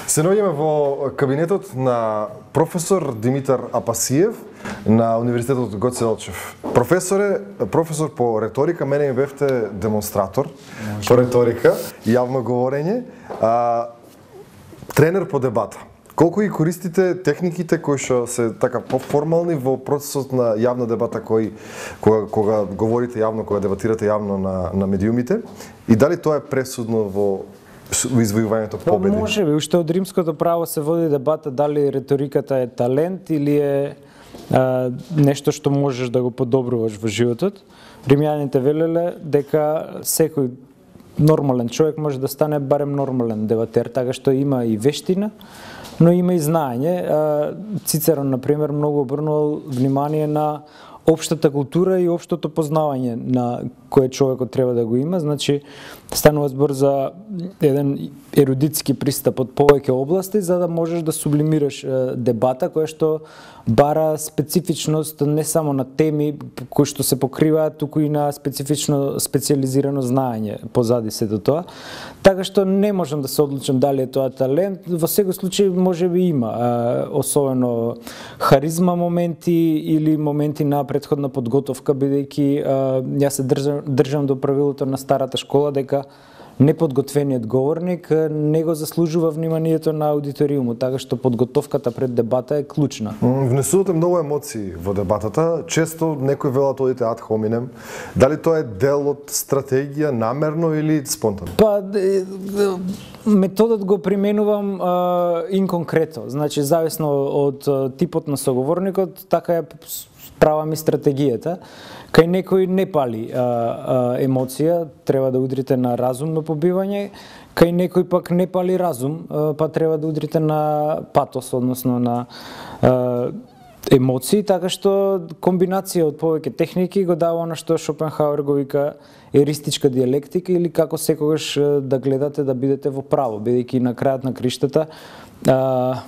Се наоѓаме во кабинетот на професор Димитар Апасиев на Универзитетот Гоце Делчев. Професоре, професор по реторика, мене ми бевте демонстратор по реторика и јавно говорење, а, тренер по дебата. Колку ги користите техниките кои што се така поформални во процесот на јавна дебата кој кога, кога говорите јавно, кога дебатирате јавно на на медиумите, и дали тоа е пресудно во во извојувањето победи? Па може би, уште од римското право се води дебата дали реториката е талент или е а, нешто што можеш да го подобруваш во животот. Римјаните велеле дека секој нормален човек може да стане барем нормален дебатер, така што има и вештина, но има и знаење. Цицерон, например, многу обрнувал внимание на општата култура и општото познавање на кое човекот треба да го има. Значи, станува збор за еден ерудитски пристап од повеќе области, за да можеш да сублимираш дебата, која што бара специфичност не само на теми кои што се покриваат, туку и на специфично специализирано знаење позади сето тоа. Така што не можам да се одлучам дали е тоа талент, во секој случај може би има, особено харизма моменти или моменти на претходна подготовка, бидејќи јас се држам, држам до правилото на старата школа дека неподготвениот говорник не го заслужува вниманието на аудиториумот, така што подготовката пред дебата е клучна. Внесувате многу емоции во дебатата, често некој велат одите ад хоминем. Дали тоа е дел од стратегија, намерно или спонтано? Па, методот го применувам а, инконкретно, значи зависно од типот на соговорникот, така е правам и стратегијата. Кај некој не пали а, а, емоција, треба да удрите на разумно побивање, кај некој пак не пали разум, а, па треба да удрите на патос, односно на а, емоции, така што комбинација од повеќе техники го дава на што Шопенхауер го вика еристичка диалектика или како секогаш да гледате да бидете во право, бидејќи на крајот на криштата а,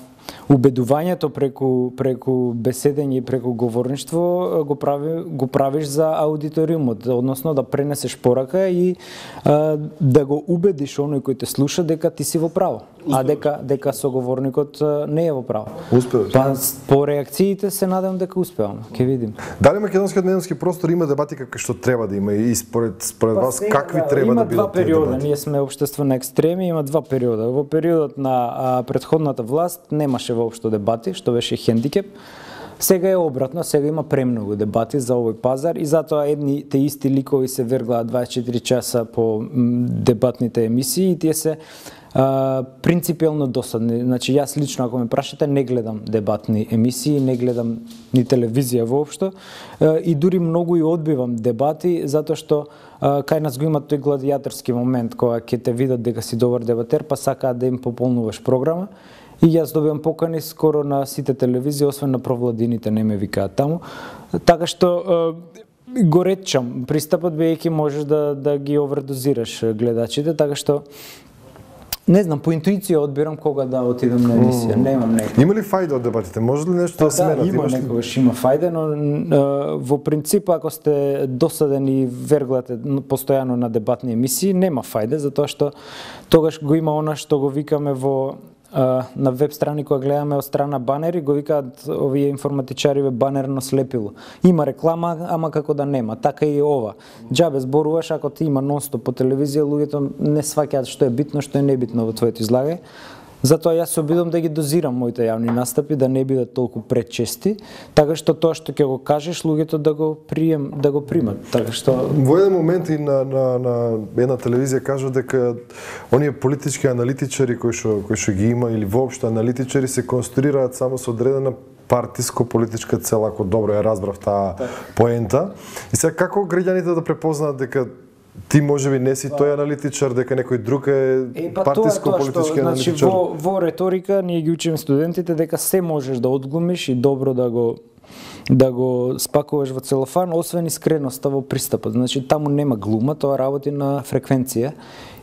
убедувањето преку преку беседење и преку говорништво го прави го правиш за аудиториумот, односно да пренесеш порака и а, да го убедиш оној кој те слуша дека ти си во право, а дека дека соговорникот не е во право. Успеаш. Па по реакциите се надевам дека успеам. Ќе видим. Дали македонскиот медиумски простор има дебати какви што треба да има и според според Па вас сега, какви треба да бидат Има два тие периода, дебати? ние сме општество на екстреми, има два периода. Во периодот на а, претходната власт немаше воопшто дебати, што беше хендикеп. Сега е обратно, сега има премногу дебати за овој пазар и затоа едни те исти ликови се верглаат дваесет и четири часа по дебатните емисии и тие се а, принципиелно досадни. Значи јас лично, ако ме прашате, не гледам дебатни емисии, не гледам ни телевизија воопшто а, и дури многу и одбивам дебати затоа што а, кај нас го има тој гладиаторски момент кога ќе те видат дека си добар дебатер, па сакаат да им пополнуваш програма. И јас добивам покани скоро на сите телевизии, освен на провладините не ме викаат таму. Така што е, го ретчам пристапот, бидејќи можеш да да ги овердозираш гледачите, така што Не знам, по интуиција одбирам кога да отидам на емисија, mm. немам некој. Има ли фајда од дебатите? Може ли нешто да сменат? Да, има Имаш ли... некогаш има фајде, но е, во принцип ако сте досаден и верглате постојано на дебатни емисии, нема фајде, затоа што тогаш го има она што го викаме во на веб страни кога гледаме од страна банери, го викаат овие информатичари банерно слепило. Има реклама, ама како да нема. Така и ова. Џабе зборуваш ако ти има нонстоп по телевизија, луѓето не сваќаат што е битно, што е небитно во твоето излагање. Затоа јас се обидам да ги дозирам моите јавни настапи, да не бидат толку пречести, така што тоа што ќе го кажеш, луѓето да го прием, да го примат. Така што во еден момент и на на на една телевизија кажа дека оние политички аналитичари кои што кои што ги има или воопшто аналитичари се конструираат само со одредена партиско-политичка цел, ако добро ја разбрав таа поента. И сега како граѓаните да препознаат дека ти можеби не си тој аналитичар, дека некој друг е, е па партиско-политички аналитичар? Значи, во, во реторика ние ги учиме студентите дека се можеш да одглумиш и добро да го да го спакуваш во целофан, освен искреноста во пристапот. Значи, таму нема глума, тоа работи на фреквенција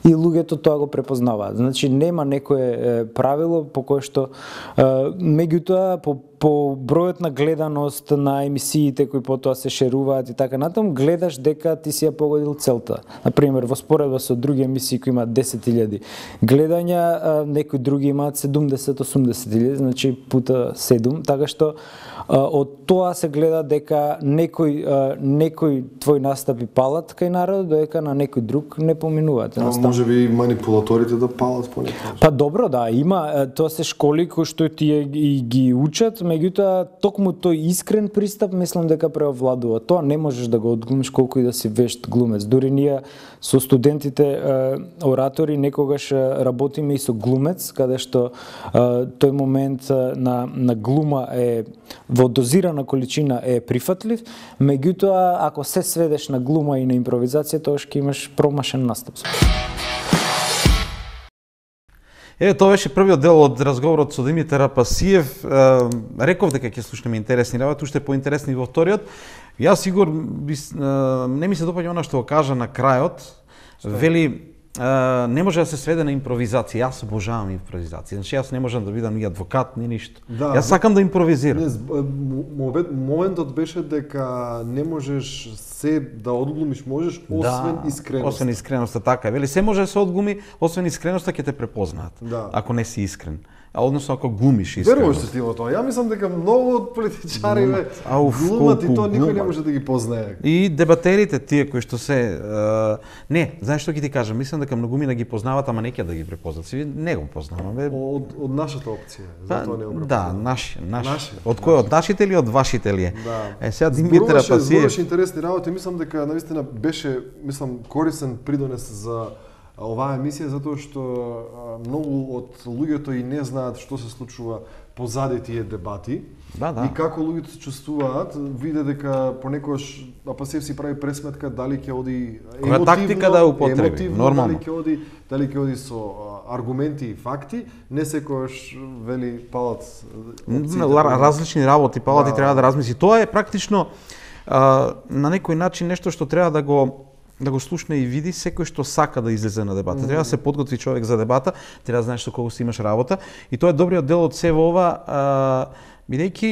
и луѓето тоа го препознаваат. Значи, нема некое правило по кое што меѓутоа по по бројот на гледаност на емисиите кои потоа се шеруваат и така натаму, гледаш дека ти си ја погодил целта. Например, во споредба со други емисии кои имаат десет илјади гледања, некои други имаат седумдесет до осумдесет илјади, значи пута седум, така што од тоа се гледа дека некој некој твој настапи палат кај народот, додека на некој друг не поминуваат. А може би манипулаторите да палат понекогаш? Па добро, да, има, тоа се школи кои што тие и ги учат, меѓутоа токму тој искрен пристап мислам дека преовладува. Тоа не можеш да го одглумиш колку и да си вешт глумец. Дури ние со студентите оратори некогаш работиме и со глумец, каде што тој момент на на глума е во дозирана количина е прифатлив, меѓутоа ако се сведеш на глума и на импровизација, тоа ќе имаш промашен настап. Еве, тоа беше првиот дел од разговорот со Димитар Апасиев. Реков дека ќе слушнеме интересни работи, уште поинтересни во вториот. Јас сигур не ми се допаѓа она што го кажа на крајот. Вели не може да се сведе на импровизација. Јас обожавам импровизација. Значи јас не можам да бидам ни адвокат, ни ништо. Да, јас сакам да импровизирам. Не, моментот беше дека не можеш се да одглумиш, можеш освен да, искреноста. Освен искреноста, така. Вели се може да се одглуми, освен искреноста ќе те препознаат. Да. Ако не си искрен. А односно ако глумиш искреност. Веруваш се ти во тоа? Ја мислам дека многу од политичари глумат и тоа никој не може да ги познае. И дебатерите тие кои што се uh, не, знаеш што ќе ти кажам, мислам дека многумина ги познават, ама не ќе да ги препознаат. Си не го познаваме. Од од нашата опција, затоа не го препознаваме. Да, наши, наши. наши. Од кој од нашите или од вашите ли е? Да. Е сега Димитар Апасиев. Зборуваше интересни работи, мислам дека навистина беше, мислам, корисен придонес за оваа емисија, затоа што многу од луѓето и не знаат што се случува позади тие дебати. Да, да. И како луѓето се чувствуваат, виде дека понекогаш Апасиев си прави пресметка дали ќе оди емотивно, тактика да употреби, нормално. Дали ќе оди, дали ќе оди со аргументи и факти, не секогаш вели палат различни работи, палат да, и треба да размисли. Тоа е практично а, на некој начин нешто што треба да го да го слушне и види секој што сака да излезе на дебата. Mm-hmm. Треба да се подготви човек за дебата, треба да знаеш со кого си имаш работа и тоа е добриот дел од сево ова, бидејќи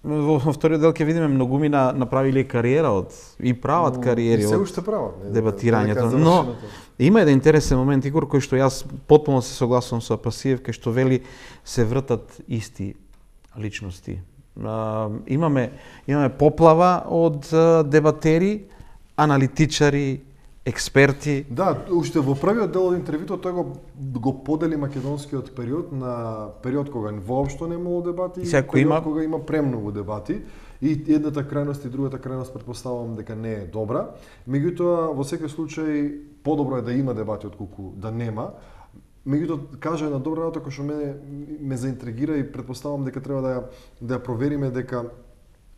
во вториот дел ќе видиме многумина направиле кариера од и прават кариери од се уште прават, не, дебатирањето. Но има еден интересен момент, Игор, кој што јас потполно се согласувам со Апасиев, кај што вели се вртат исти личности. Имаме имаме поплава од дебатери, аналитичари, експерти. Да, уште во првиот дел од интервјуто тој го го подели македонскиот период на период кога воопшто не имало дебати и период има... кога има премногу дебати. И едната крајност и другата крајност предпоставувам дека не е добра. Меѓутоа, во секој случај подобро е да има дебати отколку да нема. Меѓутоа, кажа една добра работа која што мене ме заинтригира и предпоставувам дека треба да ја да ја провериме дека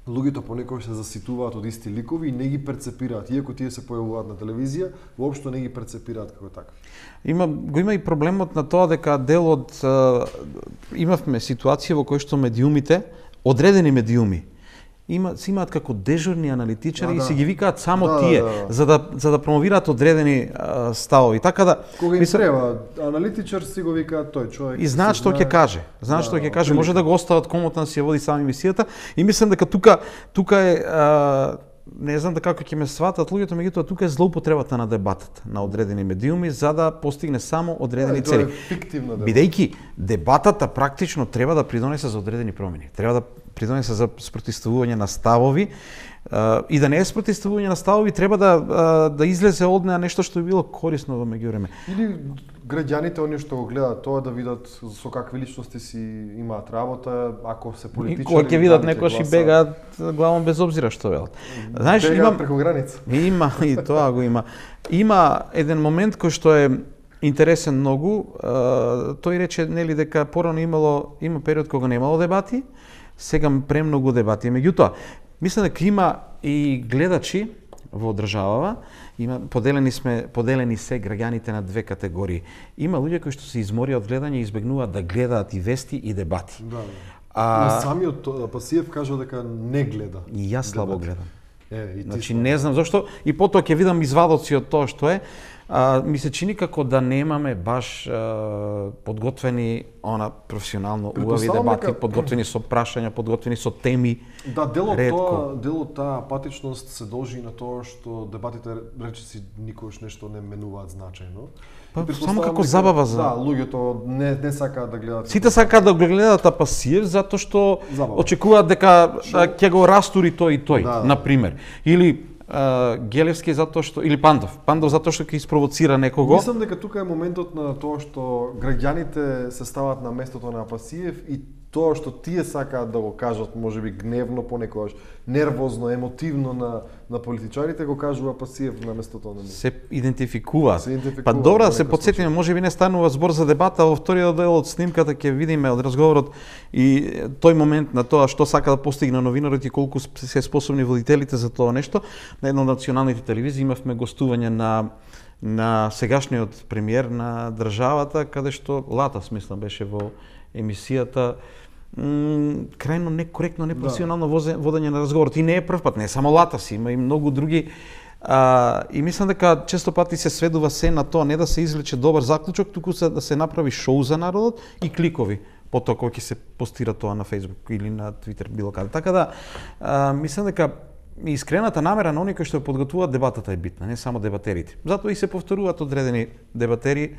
луѓето понекогаш се заситуваат од исти ликови и не ги перцепираат, иако тие се појавуваат на телевизија, воопшто не ги перцепираат како такви. Има го има и проблемот на тоа дека дел од имавме ситуација во која што медиумите, одредени медиуми, има се имаат како дежурни аналитичари А, и да. се ги викаат само Да, тие да, да. за да за да промовираат одредени а, ставови. Така да Кога им мислам, треба, аналитичар си го вика тој човек. и знаат си што ќе знае. каже. Знаат Да, што ќе каже, отприлика. може да го остават комотно да си ја води сами емисијата и мислам дека тука тука е а, не знам дека како ќе ме сватат луѓето, меѓутоа тука е злоупотребата на дебатата на одредени медиуми за да постигне само одредени Да, и тоа е цели. фиктивна дебата. Бидејќи дебатата практично треба да придонесе за одредени промени. Треба да придонесе за спротивставување на ставови а, и да не е спротивставување на ставови, треба да а, да излезе од неа нешто што би било корисно во меѓувреме. Или граѓаните оние што го гледаат тоа да видат со какви личности си имаат работа, ако се И политичари. кога ќе видат дали ќе некојаш и гласаат. бегаат главом без обзира што велат. Знаеш, Бегаат имам преку граница. Има и тоа го има. Има еден момент кој што е интересен многу. А, тој рече нели дека порано имало има период кога немало дебати, сега премногу дебати. Меѓутоа, мислам дека има и гледачи во државава, има поделени сме поделени се граѓаните на две категории. Има луѓе кои што се изморија од гледање и избегнуваат да гледаат и вести и дебати. Да. А А самиот тоа- Пасиев кажа дека не гледа. и јас слабо дебати. гледам. Е, и ти Значи слабо. не знам зашто и потоа ќе видам извадоци од тоа што е. А, ми се чини како да немаме баш а, подготвени она професионално убави Претпоставам дебати, дека- подготвени со прашања, подготвени со теми. Да, дел од Ретко. тоа, дел од таа апатичност се должи на тоа што дебатите речиси никогаш нешто не менуваат значајно. Па, И претпоставам само како дека- забава за- Да, луѓето не не сакаат да гледаат. Сите сакаат да го гледаат Апасиев затоа што Забава. очекуваат дека а, ќе го растури тој и тој, Да, да. на пример. Или а, Гелевски затоа што или Пандов, Пандов затоа што ќе испровоцира некого. Мислам дека тука е моментот на тоа што граѓаните се стават на местото на Апасиев и тоа што тие сакаат да го кажат, можеби гневно, понекогаш нервозно, емотивно на на политичарите, го кажува Апасиев на местото на нив. Се идентификуваат. Се идентификуваат Па добро во да се некој подсетиме, можеби не станува збор за дебата, а во вториот дел од снимката ќе видиме од разговорот и тој момент на тоа што сака да постигне новинарот и колку се способни водителите за тоа нешто. На една од националните телевизии имавме гостување на на сегашниот премиер на државата, каде што Латас, мислам, беше во емисијата. М, крајно некоректно, непрофесионално возе- водење на разговорот. И не е прв пат, не е само Латас, има и многу други. А, и мислам дека често пати се сведува се на тоа, не да се извлече добар заклучок, туку се да се направи шоу за народот и кликови потоа кога ќе се постира тоа на Facebook или на Twitter, било каде. Така да, а, мислам дека искрената намера на оние кои што ја подготвуваат дебатата е битна, не само дебатерите. Затоа и се повторуваат одредени дебатери,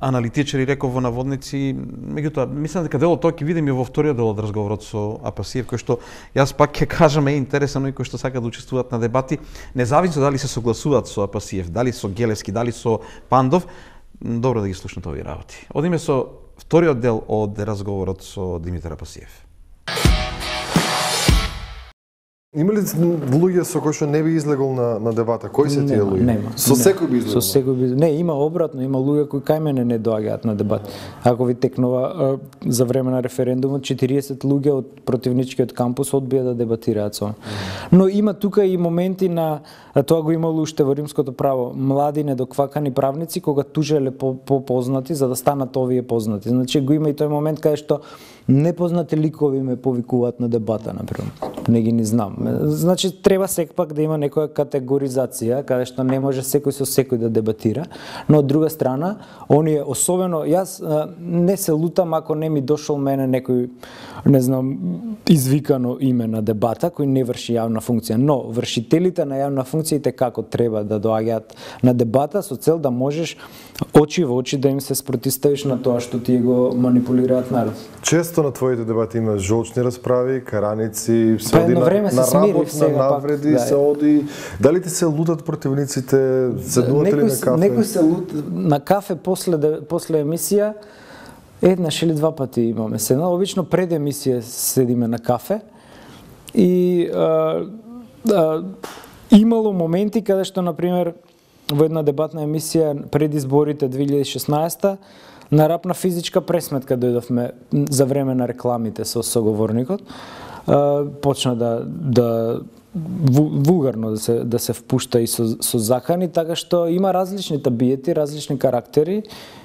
аналитичари, реков во наводници. Меѓутоа, мислам дека дел од тоа ќе видиме и во вториот дел од разговорот со Апасиев, кој што јас пак ќе кажам е интересно и кои што сакаат да учествуваат на дебати, независно дали се согласуваат со Апасиев, дали со Гелевски, дали со Пандов, м, добро да ги слушнат овие работи. Одиме со вториот дел од разговорот со Димитар Апасиев. Има ли луѓе со кои што не би излегол на на дебата? Кои се тие Нема, луѓе? нема. Со Не. секој би излегол. Со секој би. Не, има обратно, има луѓе кои кај мене не доаѓаат на дебат. Ако ви текнува а, за време на референдумот, четириесет луѓе од противничкиот кампус одбија да дебатираат со. Но има тука и моменти на а тоа го имало уште во римското право, млади недоквакани правници кога тужеле по, по познати за да станат овие познати. Значи го има и тој момент каде што непознати ликови ме повикуваат на дебата, например. Не ги ни знам. Значи, треба секпак да има некоја категоризација, каде што не може секој со секој да дебатира, но од друга страна, оние, особено, јас а, не се лутам ако не ми дошол мене некој, не знам, извикано име на дебата, кој не врши јавна функција, но вршителите на јавна функциите како треба да доаѓаат на дебата со цел да можеш очи во очи да им се спротиставиш на тоа што тие го манипулираат народ. Често на твоите дебати има жолчни расправи, караници, се Па оди едно на, време се на смирив, работ, на сега пак, навреди, да. се оди. Дали ти се лутат противниците, седнувате ли Некој на се- кафе? Некој се лут на кафе после де- после емисија еднаш или два пати имаме седна. Обично пред емисија седиме на кафе и а, а, имало моменти каде што на пример во една дебатна емисија пред изборите две илјади и шеснаесета на рапна физичка пресметка дојдовме за време на рекламите со соговорникот. а, почна да да вулгарно да се да се впушта и со со закани, така што има различни табиети, различни карактери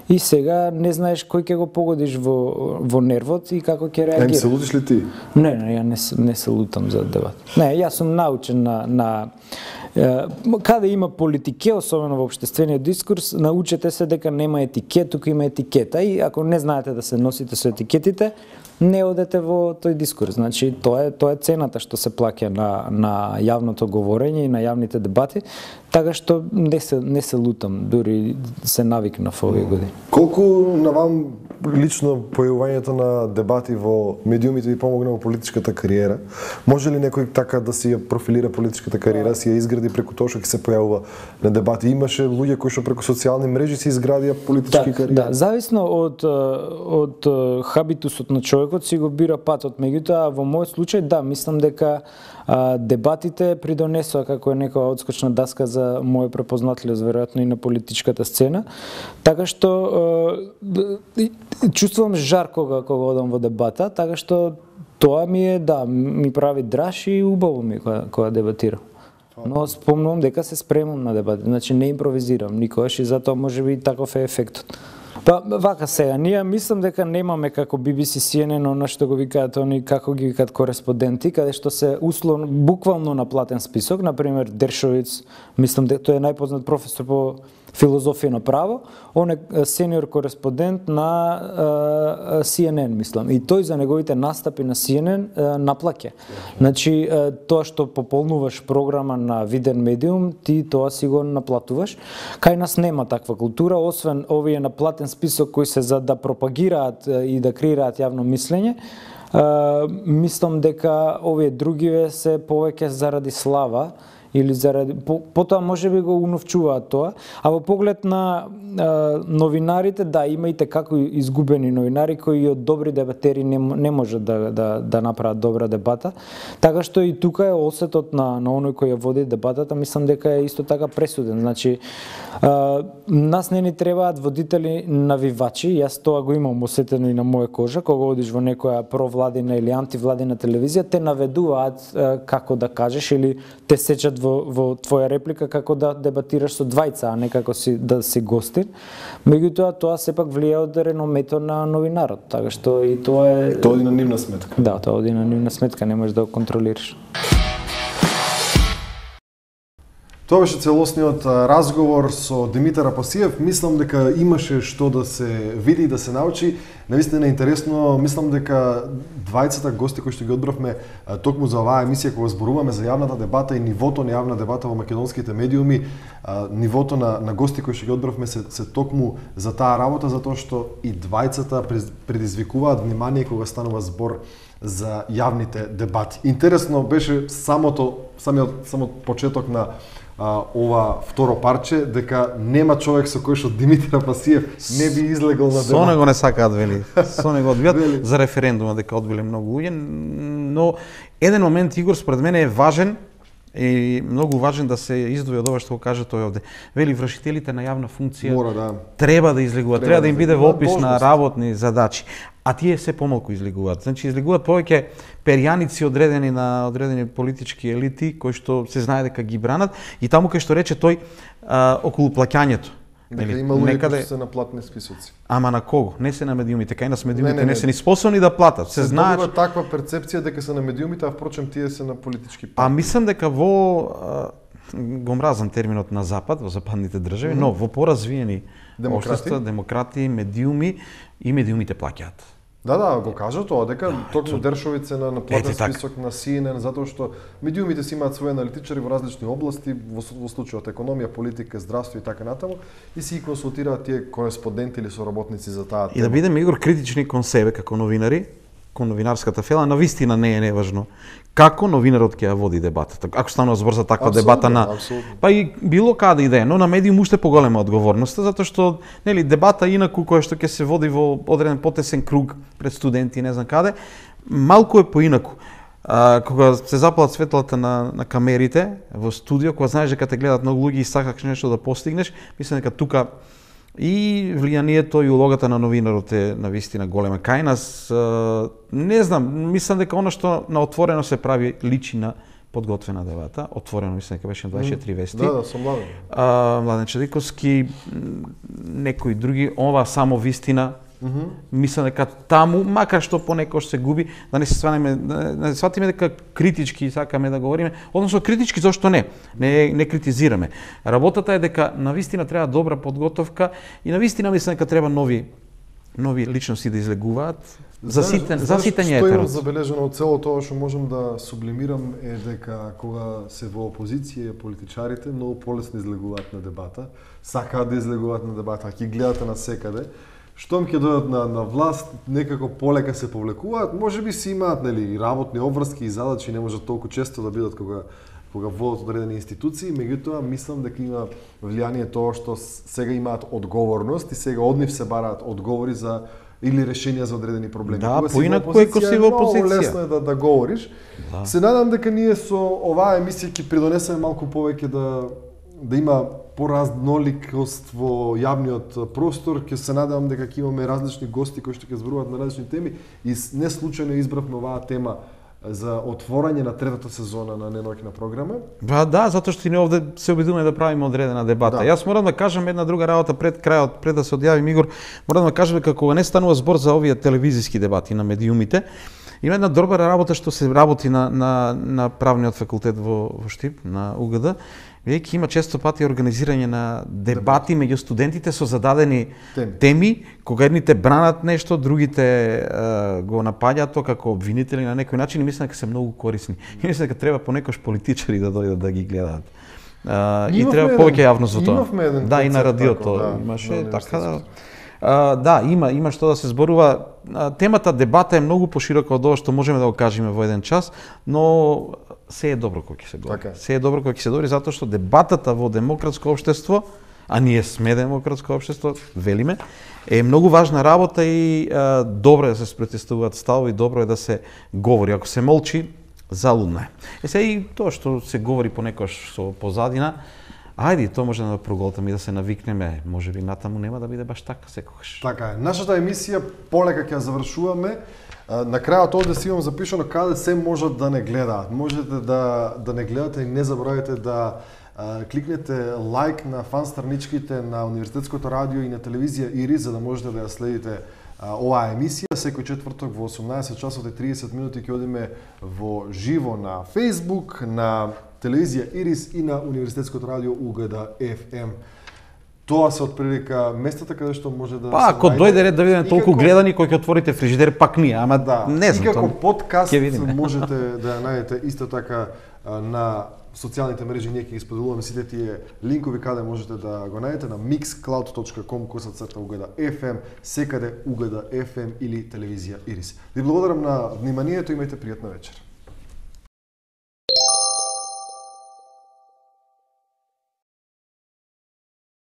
и сега не знаеш кој ќе го погодиш во во нервот и како ќе реагира. Не се лутиш ли ти? Не, не, ја не не се лутам за дебат. Не, јас сум научен на на каде има политике, особено во општествениот дискурс, научете се дека нема етикет, тука има етикета и ако не знаете да се носите со етикетите, не одете во тој дискурс. Значи, тоа е тоа е цената што се плаќа на на јавното говорење и на јавните дебати, така што не се не се лутам, дури се навикнав овие години. Колку на вам лично појавувањето на дебати во медиумите ви помогна во политичката кариера? Може ли некој така да си ја профилира политичката кариера, си ја изгради преку тоа што ќе се појавува на дебати? Имаше луѓе кои што преку социјални мрежи си изградија политички да, кариери. Да, зависно од од хабитусот на човекот си го бира патот. Меѓутоа, во мојот случај, да, мислам дека а, дебатите придонесоа како е некоја одскочна даска за моја препознатливост, веројатно и на политичката сцена. Така што а, чувствувам жар кога кога одам во дебата, така што тоа ми е, да, ми прави драж и убаво ми кога, кога дебатирам. Но спомнувам дека се спремам на дебати, значи не импровизирам никогаш и затоа можеби таков е ефектот. Па вака сега, ние мислам дека немаме како Би Би Си, Си Ен Ен, она што го викаат они, како ги викаат кореспонденти, каде што се условно, буквално на платен список, например Дершовиц, мислам дека тој е најпознат професор по филозофија на право, он е сениор кореспондент на Си Ен Ен, мислам. И тој за неговите настапи на Си Ен Ен наплаќа. Значи, тоа што пополнуваш програма на виден медиум, ти тоа си го наплатуваш. Кај нас нема таква култура, освен овие на платен список кои се за да пропагираат и да креираат јавно мислење. Мислам дека овие другиве се повеќе заради слава, или заради по, потоа можеби го уновчуваат тоа, а во поглед на а, новинарите, да, имајте како изгубени новинари кои од добри дебатери не, не можат да, да, да направат добра дебата, така што и тука е осетот на, на оној кој ја води дебатата, мислам дека е исто така пресуден. Значи, а, нас не ни требаат водители навивачи, јас тоа го имам осетено и на моја кожа, кога одиш во некоја провладина или антивладина телевизија, те наведуваат а, како да кажеш или те сечат во, во твоја реплика како да дебатираш со двајца, а не како си да си гостин. Меѓутоа тоа сепак влија од реномето на новинарот, така што и тоа е Тоа оди на нивна сметка. Да, тоа оди на нивна сметка, не можеш да го контролираш. Тоа беше целосниот разговор со Димитар Апасиев. Мислам дека имаше што да се види и да се научи. Навистина интересно, мислам дека двајцата гости кои што ги одбравме токму за оваа емисија кога зборуваме за јавната дебата и нивото на јавна дебата во македонските медиуми, нивото на, на гости кои што ги одбравме се, се токму за таа работа, затоа што и двајцата предизвикуваат внимание кога станува збор за јавните дебати. Интересно беше самото самиот самот почеток на а, ова второ парче, дека нема човек со кој што Димитар Апасиев не би излегол на дебат. Со него не сакаат, вели. Со него одбијат за референдумот, дека одбиле многу луѓе, но еден момент, Игор, според мене е важен и многу важен да се издвои од ова што го кажа тој овде. Вели, вршителите на јавна функција Мора, да. треба да излегуваат, треба, треба да им биде во опис на должност. работни задачи, а тие се помалку излегуваат. Значи излегуваат повеќе перјаници одредени на одредени политички елити кои што се знае дека ги бранат и таму кај што рече тој а, околу плаќањето. Дека има луѓе некаде... кои се на платни списоци. Ама на кого? Не се на медиумите, кај нас медиумите не, не, не, не. се ни способни да платат. Се, Се знае. добива таква перцепција дека се на медиумите, а впрочем тие се на политички партии. А мислам дека во а, го мразам терминот на запад, во западните држави, mm -hmm. но во поразвиени Демократи? општества, демократи, медиуми и медиумите плаќаат. Да, да, го кажа тоа, дека токму Дершовиц е на, на платен Ете, така. список на Си Ен Ен, затоа што медиумите си имаат своји аналитичари во различни области, во, во случајот економија, политика, здравство и така натаму, и си ги консултираат тие кореспонденти или соработници за таа И да тема. бидеме, Игор, критични кон себе како новинари, кон новинарската фела, навистина не е неважно како новинарот ќе ја води дебатата. Ако станува збор за таква Апсолутно, дебата на апсолутно. па и било каде и да е, но на медиум уште поголема одговорноста, затоа што нели дебата инаку која што ќе се води во одреден потесен круг пред студенти, не знам каде, малку е поинаку. А, кога се запалат светлата на, на камерите во студио, кога знаеш дека те гледат многу луѓе и сакаш нешто да постигнеш, мислам дека тука И влијанието и улогата на новинарот е навистина голема. Кај нас, не знам, мислам дека она што на отворено се прави личи на подготвена дебата. Отворено, мислам дека беше дваесет и четири вести. Да, да, со Младен. А, Младен Чадиковски, некои други, ова само вистина. Mm -hmm. Мислам дека таму, макар што понекогаш се губи, да не се сванеме, да не сватиме дека критички сакаме да говориме, односно критички зошто не, не не критизираме. Работата е дека навистина треба добра подготовка и навистина мислам дека треба нови нови личности да излегуваат. За сите, за сите не е Што имам терот. забележено од цело тоа што можам да сублимирам е дека кога се во опозиција политичарите многу полесно излегуваат на дебата, сакаат да излегуваат на дебата, ќе гледате на секаде. Штом ќе дојдат на, на власт, некако полека се повлекуваат, може би си имаат нели работни обврски и задачи, не можат толку често да бидат кога кога водат одредени институции, меѓутоа мислам дека има влијание тоа што сега имаат одговорност и сега од нив се бараат одговори за или решенија за одредени проблеми. Да, Кога си поинаку во е кога си во многу опозиција. лесно е да да говориш. Да. Се надам дека ние со оваа емисија ќе придонесеме малку повеќе да да има поразноликост во јавниот простор. Ќе се надевам дека ќе имаме различни гости кои што ќе зборуваат на различни теми и не случајно избравме оваа тема за отворање на третата сезона на Неноќна програма. Ба да, затоа што и ние овде се обидуваме да правиме одредена дебата. Да. Јас морам да кажам една друга работа пред крајот, пред да се одјавим Игор, морам да кажам дека кога не станува збор за овие телевизиски дебати на медиумите, има една добра работа што се работи на на на правниот факултет во во Штип, на У Г Д. Веќе има често пати организирање на дебати меѓу студентите со зададени Теми. теми, кога едните бранат нешто, другите е, го напаѓаат тоа како обвинители на некој начин и мислам дека се многу корисни. И мислам дека треба понекогаш политичари да дојдат да ги гледаат. А, и Имавме треба еден- повеќе јавност во тоа. имавме еден Да, и на концерт радиото тако, да, имаше на така да. универзитетското. А, да, има има што да се зборува. А, темата дебата е многу поширока од ова што можеме да го кажеме во еден час, но се е добро кога ќе се говори. Така е. Се е добро кога ќе се говори затоа што дебатата во демократско општество, а ние сме демократско општество, велиме, е многу важна работа и а, добро е да се спротестуваат ставови, добро е да се говори. Ако се молчи, залудно е. Е сега и тоа што се говори понекогаш со позадина, ајде, тоа може да проголтаме и да се навикнеме, може би натаму нема да биде баш така секогаш. Така е. Нашата емисија полека ќе ја завршуваме. А, На крајот овде си имам запишано каде се можат да не гледаат. Можете да да не гледате и не заборавајте да а, кликнете лайк на фан страничките на Универзитетското радио и на телевизија Ирис за да можете да ја следите а, оваа емисија. Секој четврток во осумнаесет часот и триесет минути ќе одиме во живо на Facebook, на телевизија Ирис и на Универзитетското радио У Г Д Ф М. Тоа се отприлика местата каде што може да Па, се ако најде. дојде ред да видиме И толку како- гледани кои ќе отворите фрижидер, пак ние, ама Да, не знам. и како тоа- подкаст ќе видиме. можете да ја најдете исто така а, на социјалните мрежи, ние ќе ги споделуваме сите тие линкови каде можете да го најдете на mixcloud точка com косацрта У Г Д Ф М, секаде У Г Д Ф М или телевизија Ирис. Ви благодарам на вниманието, имајте пријатна вечер.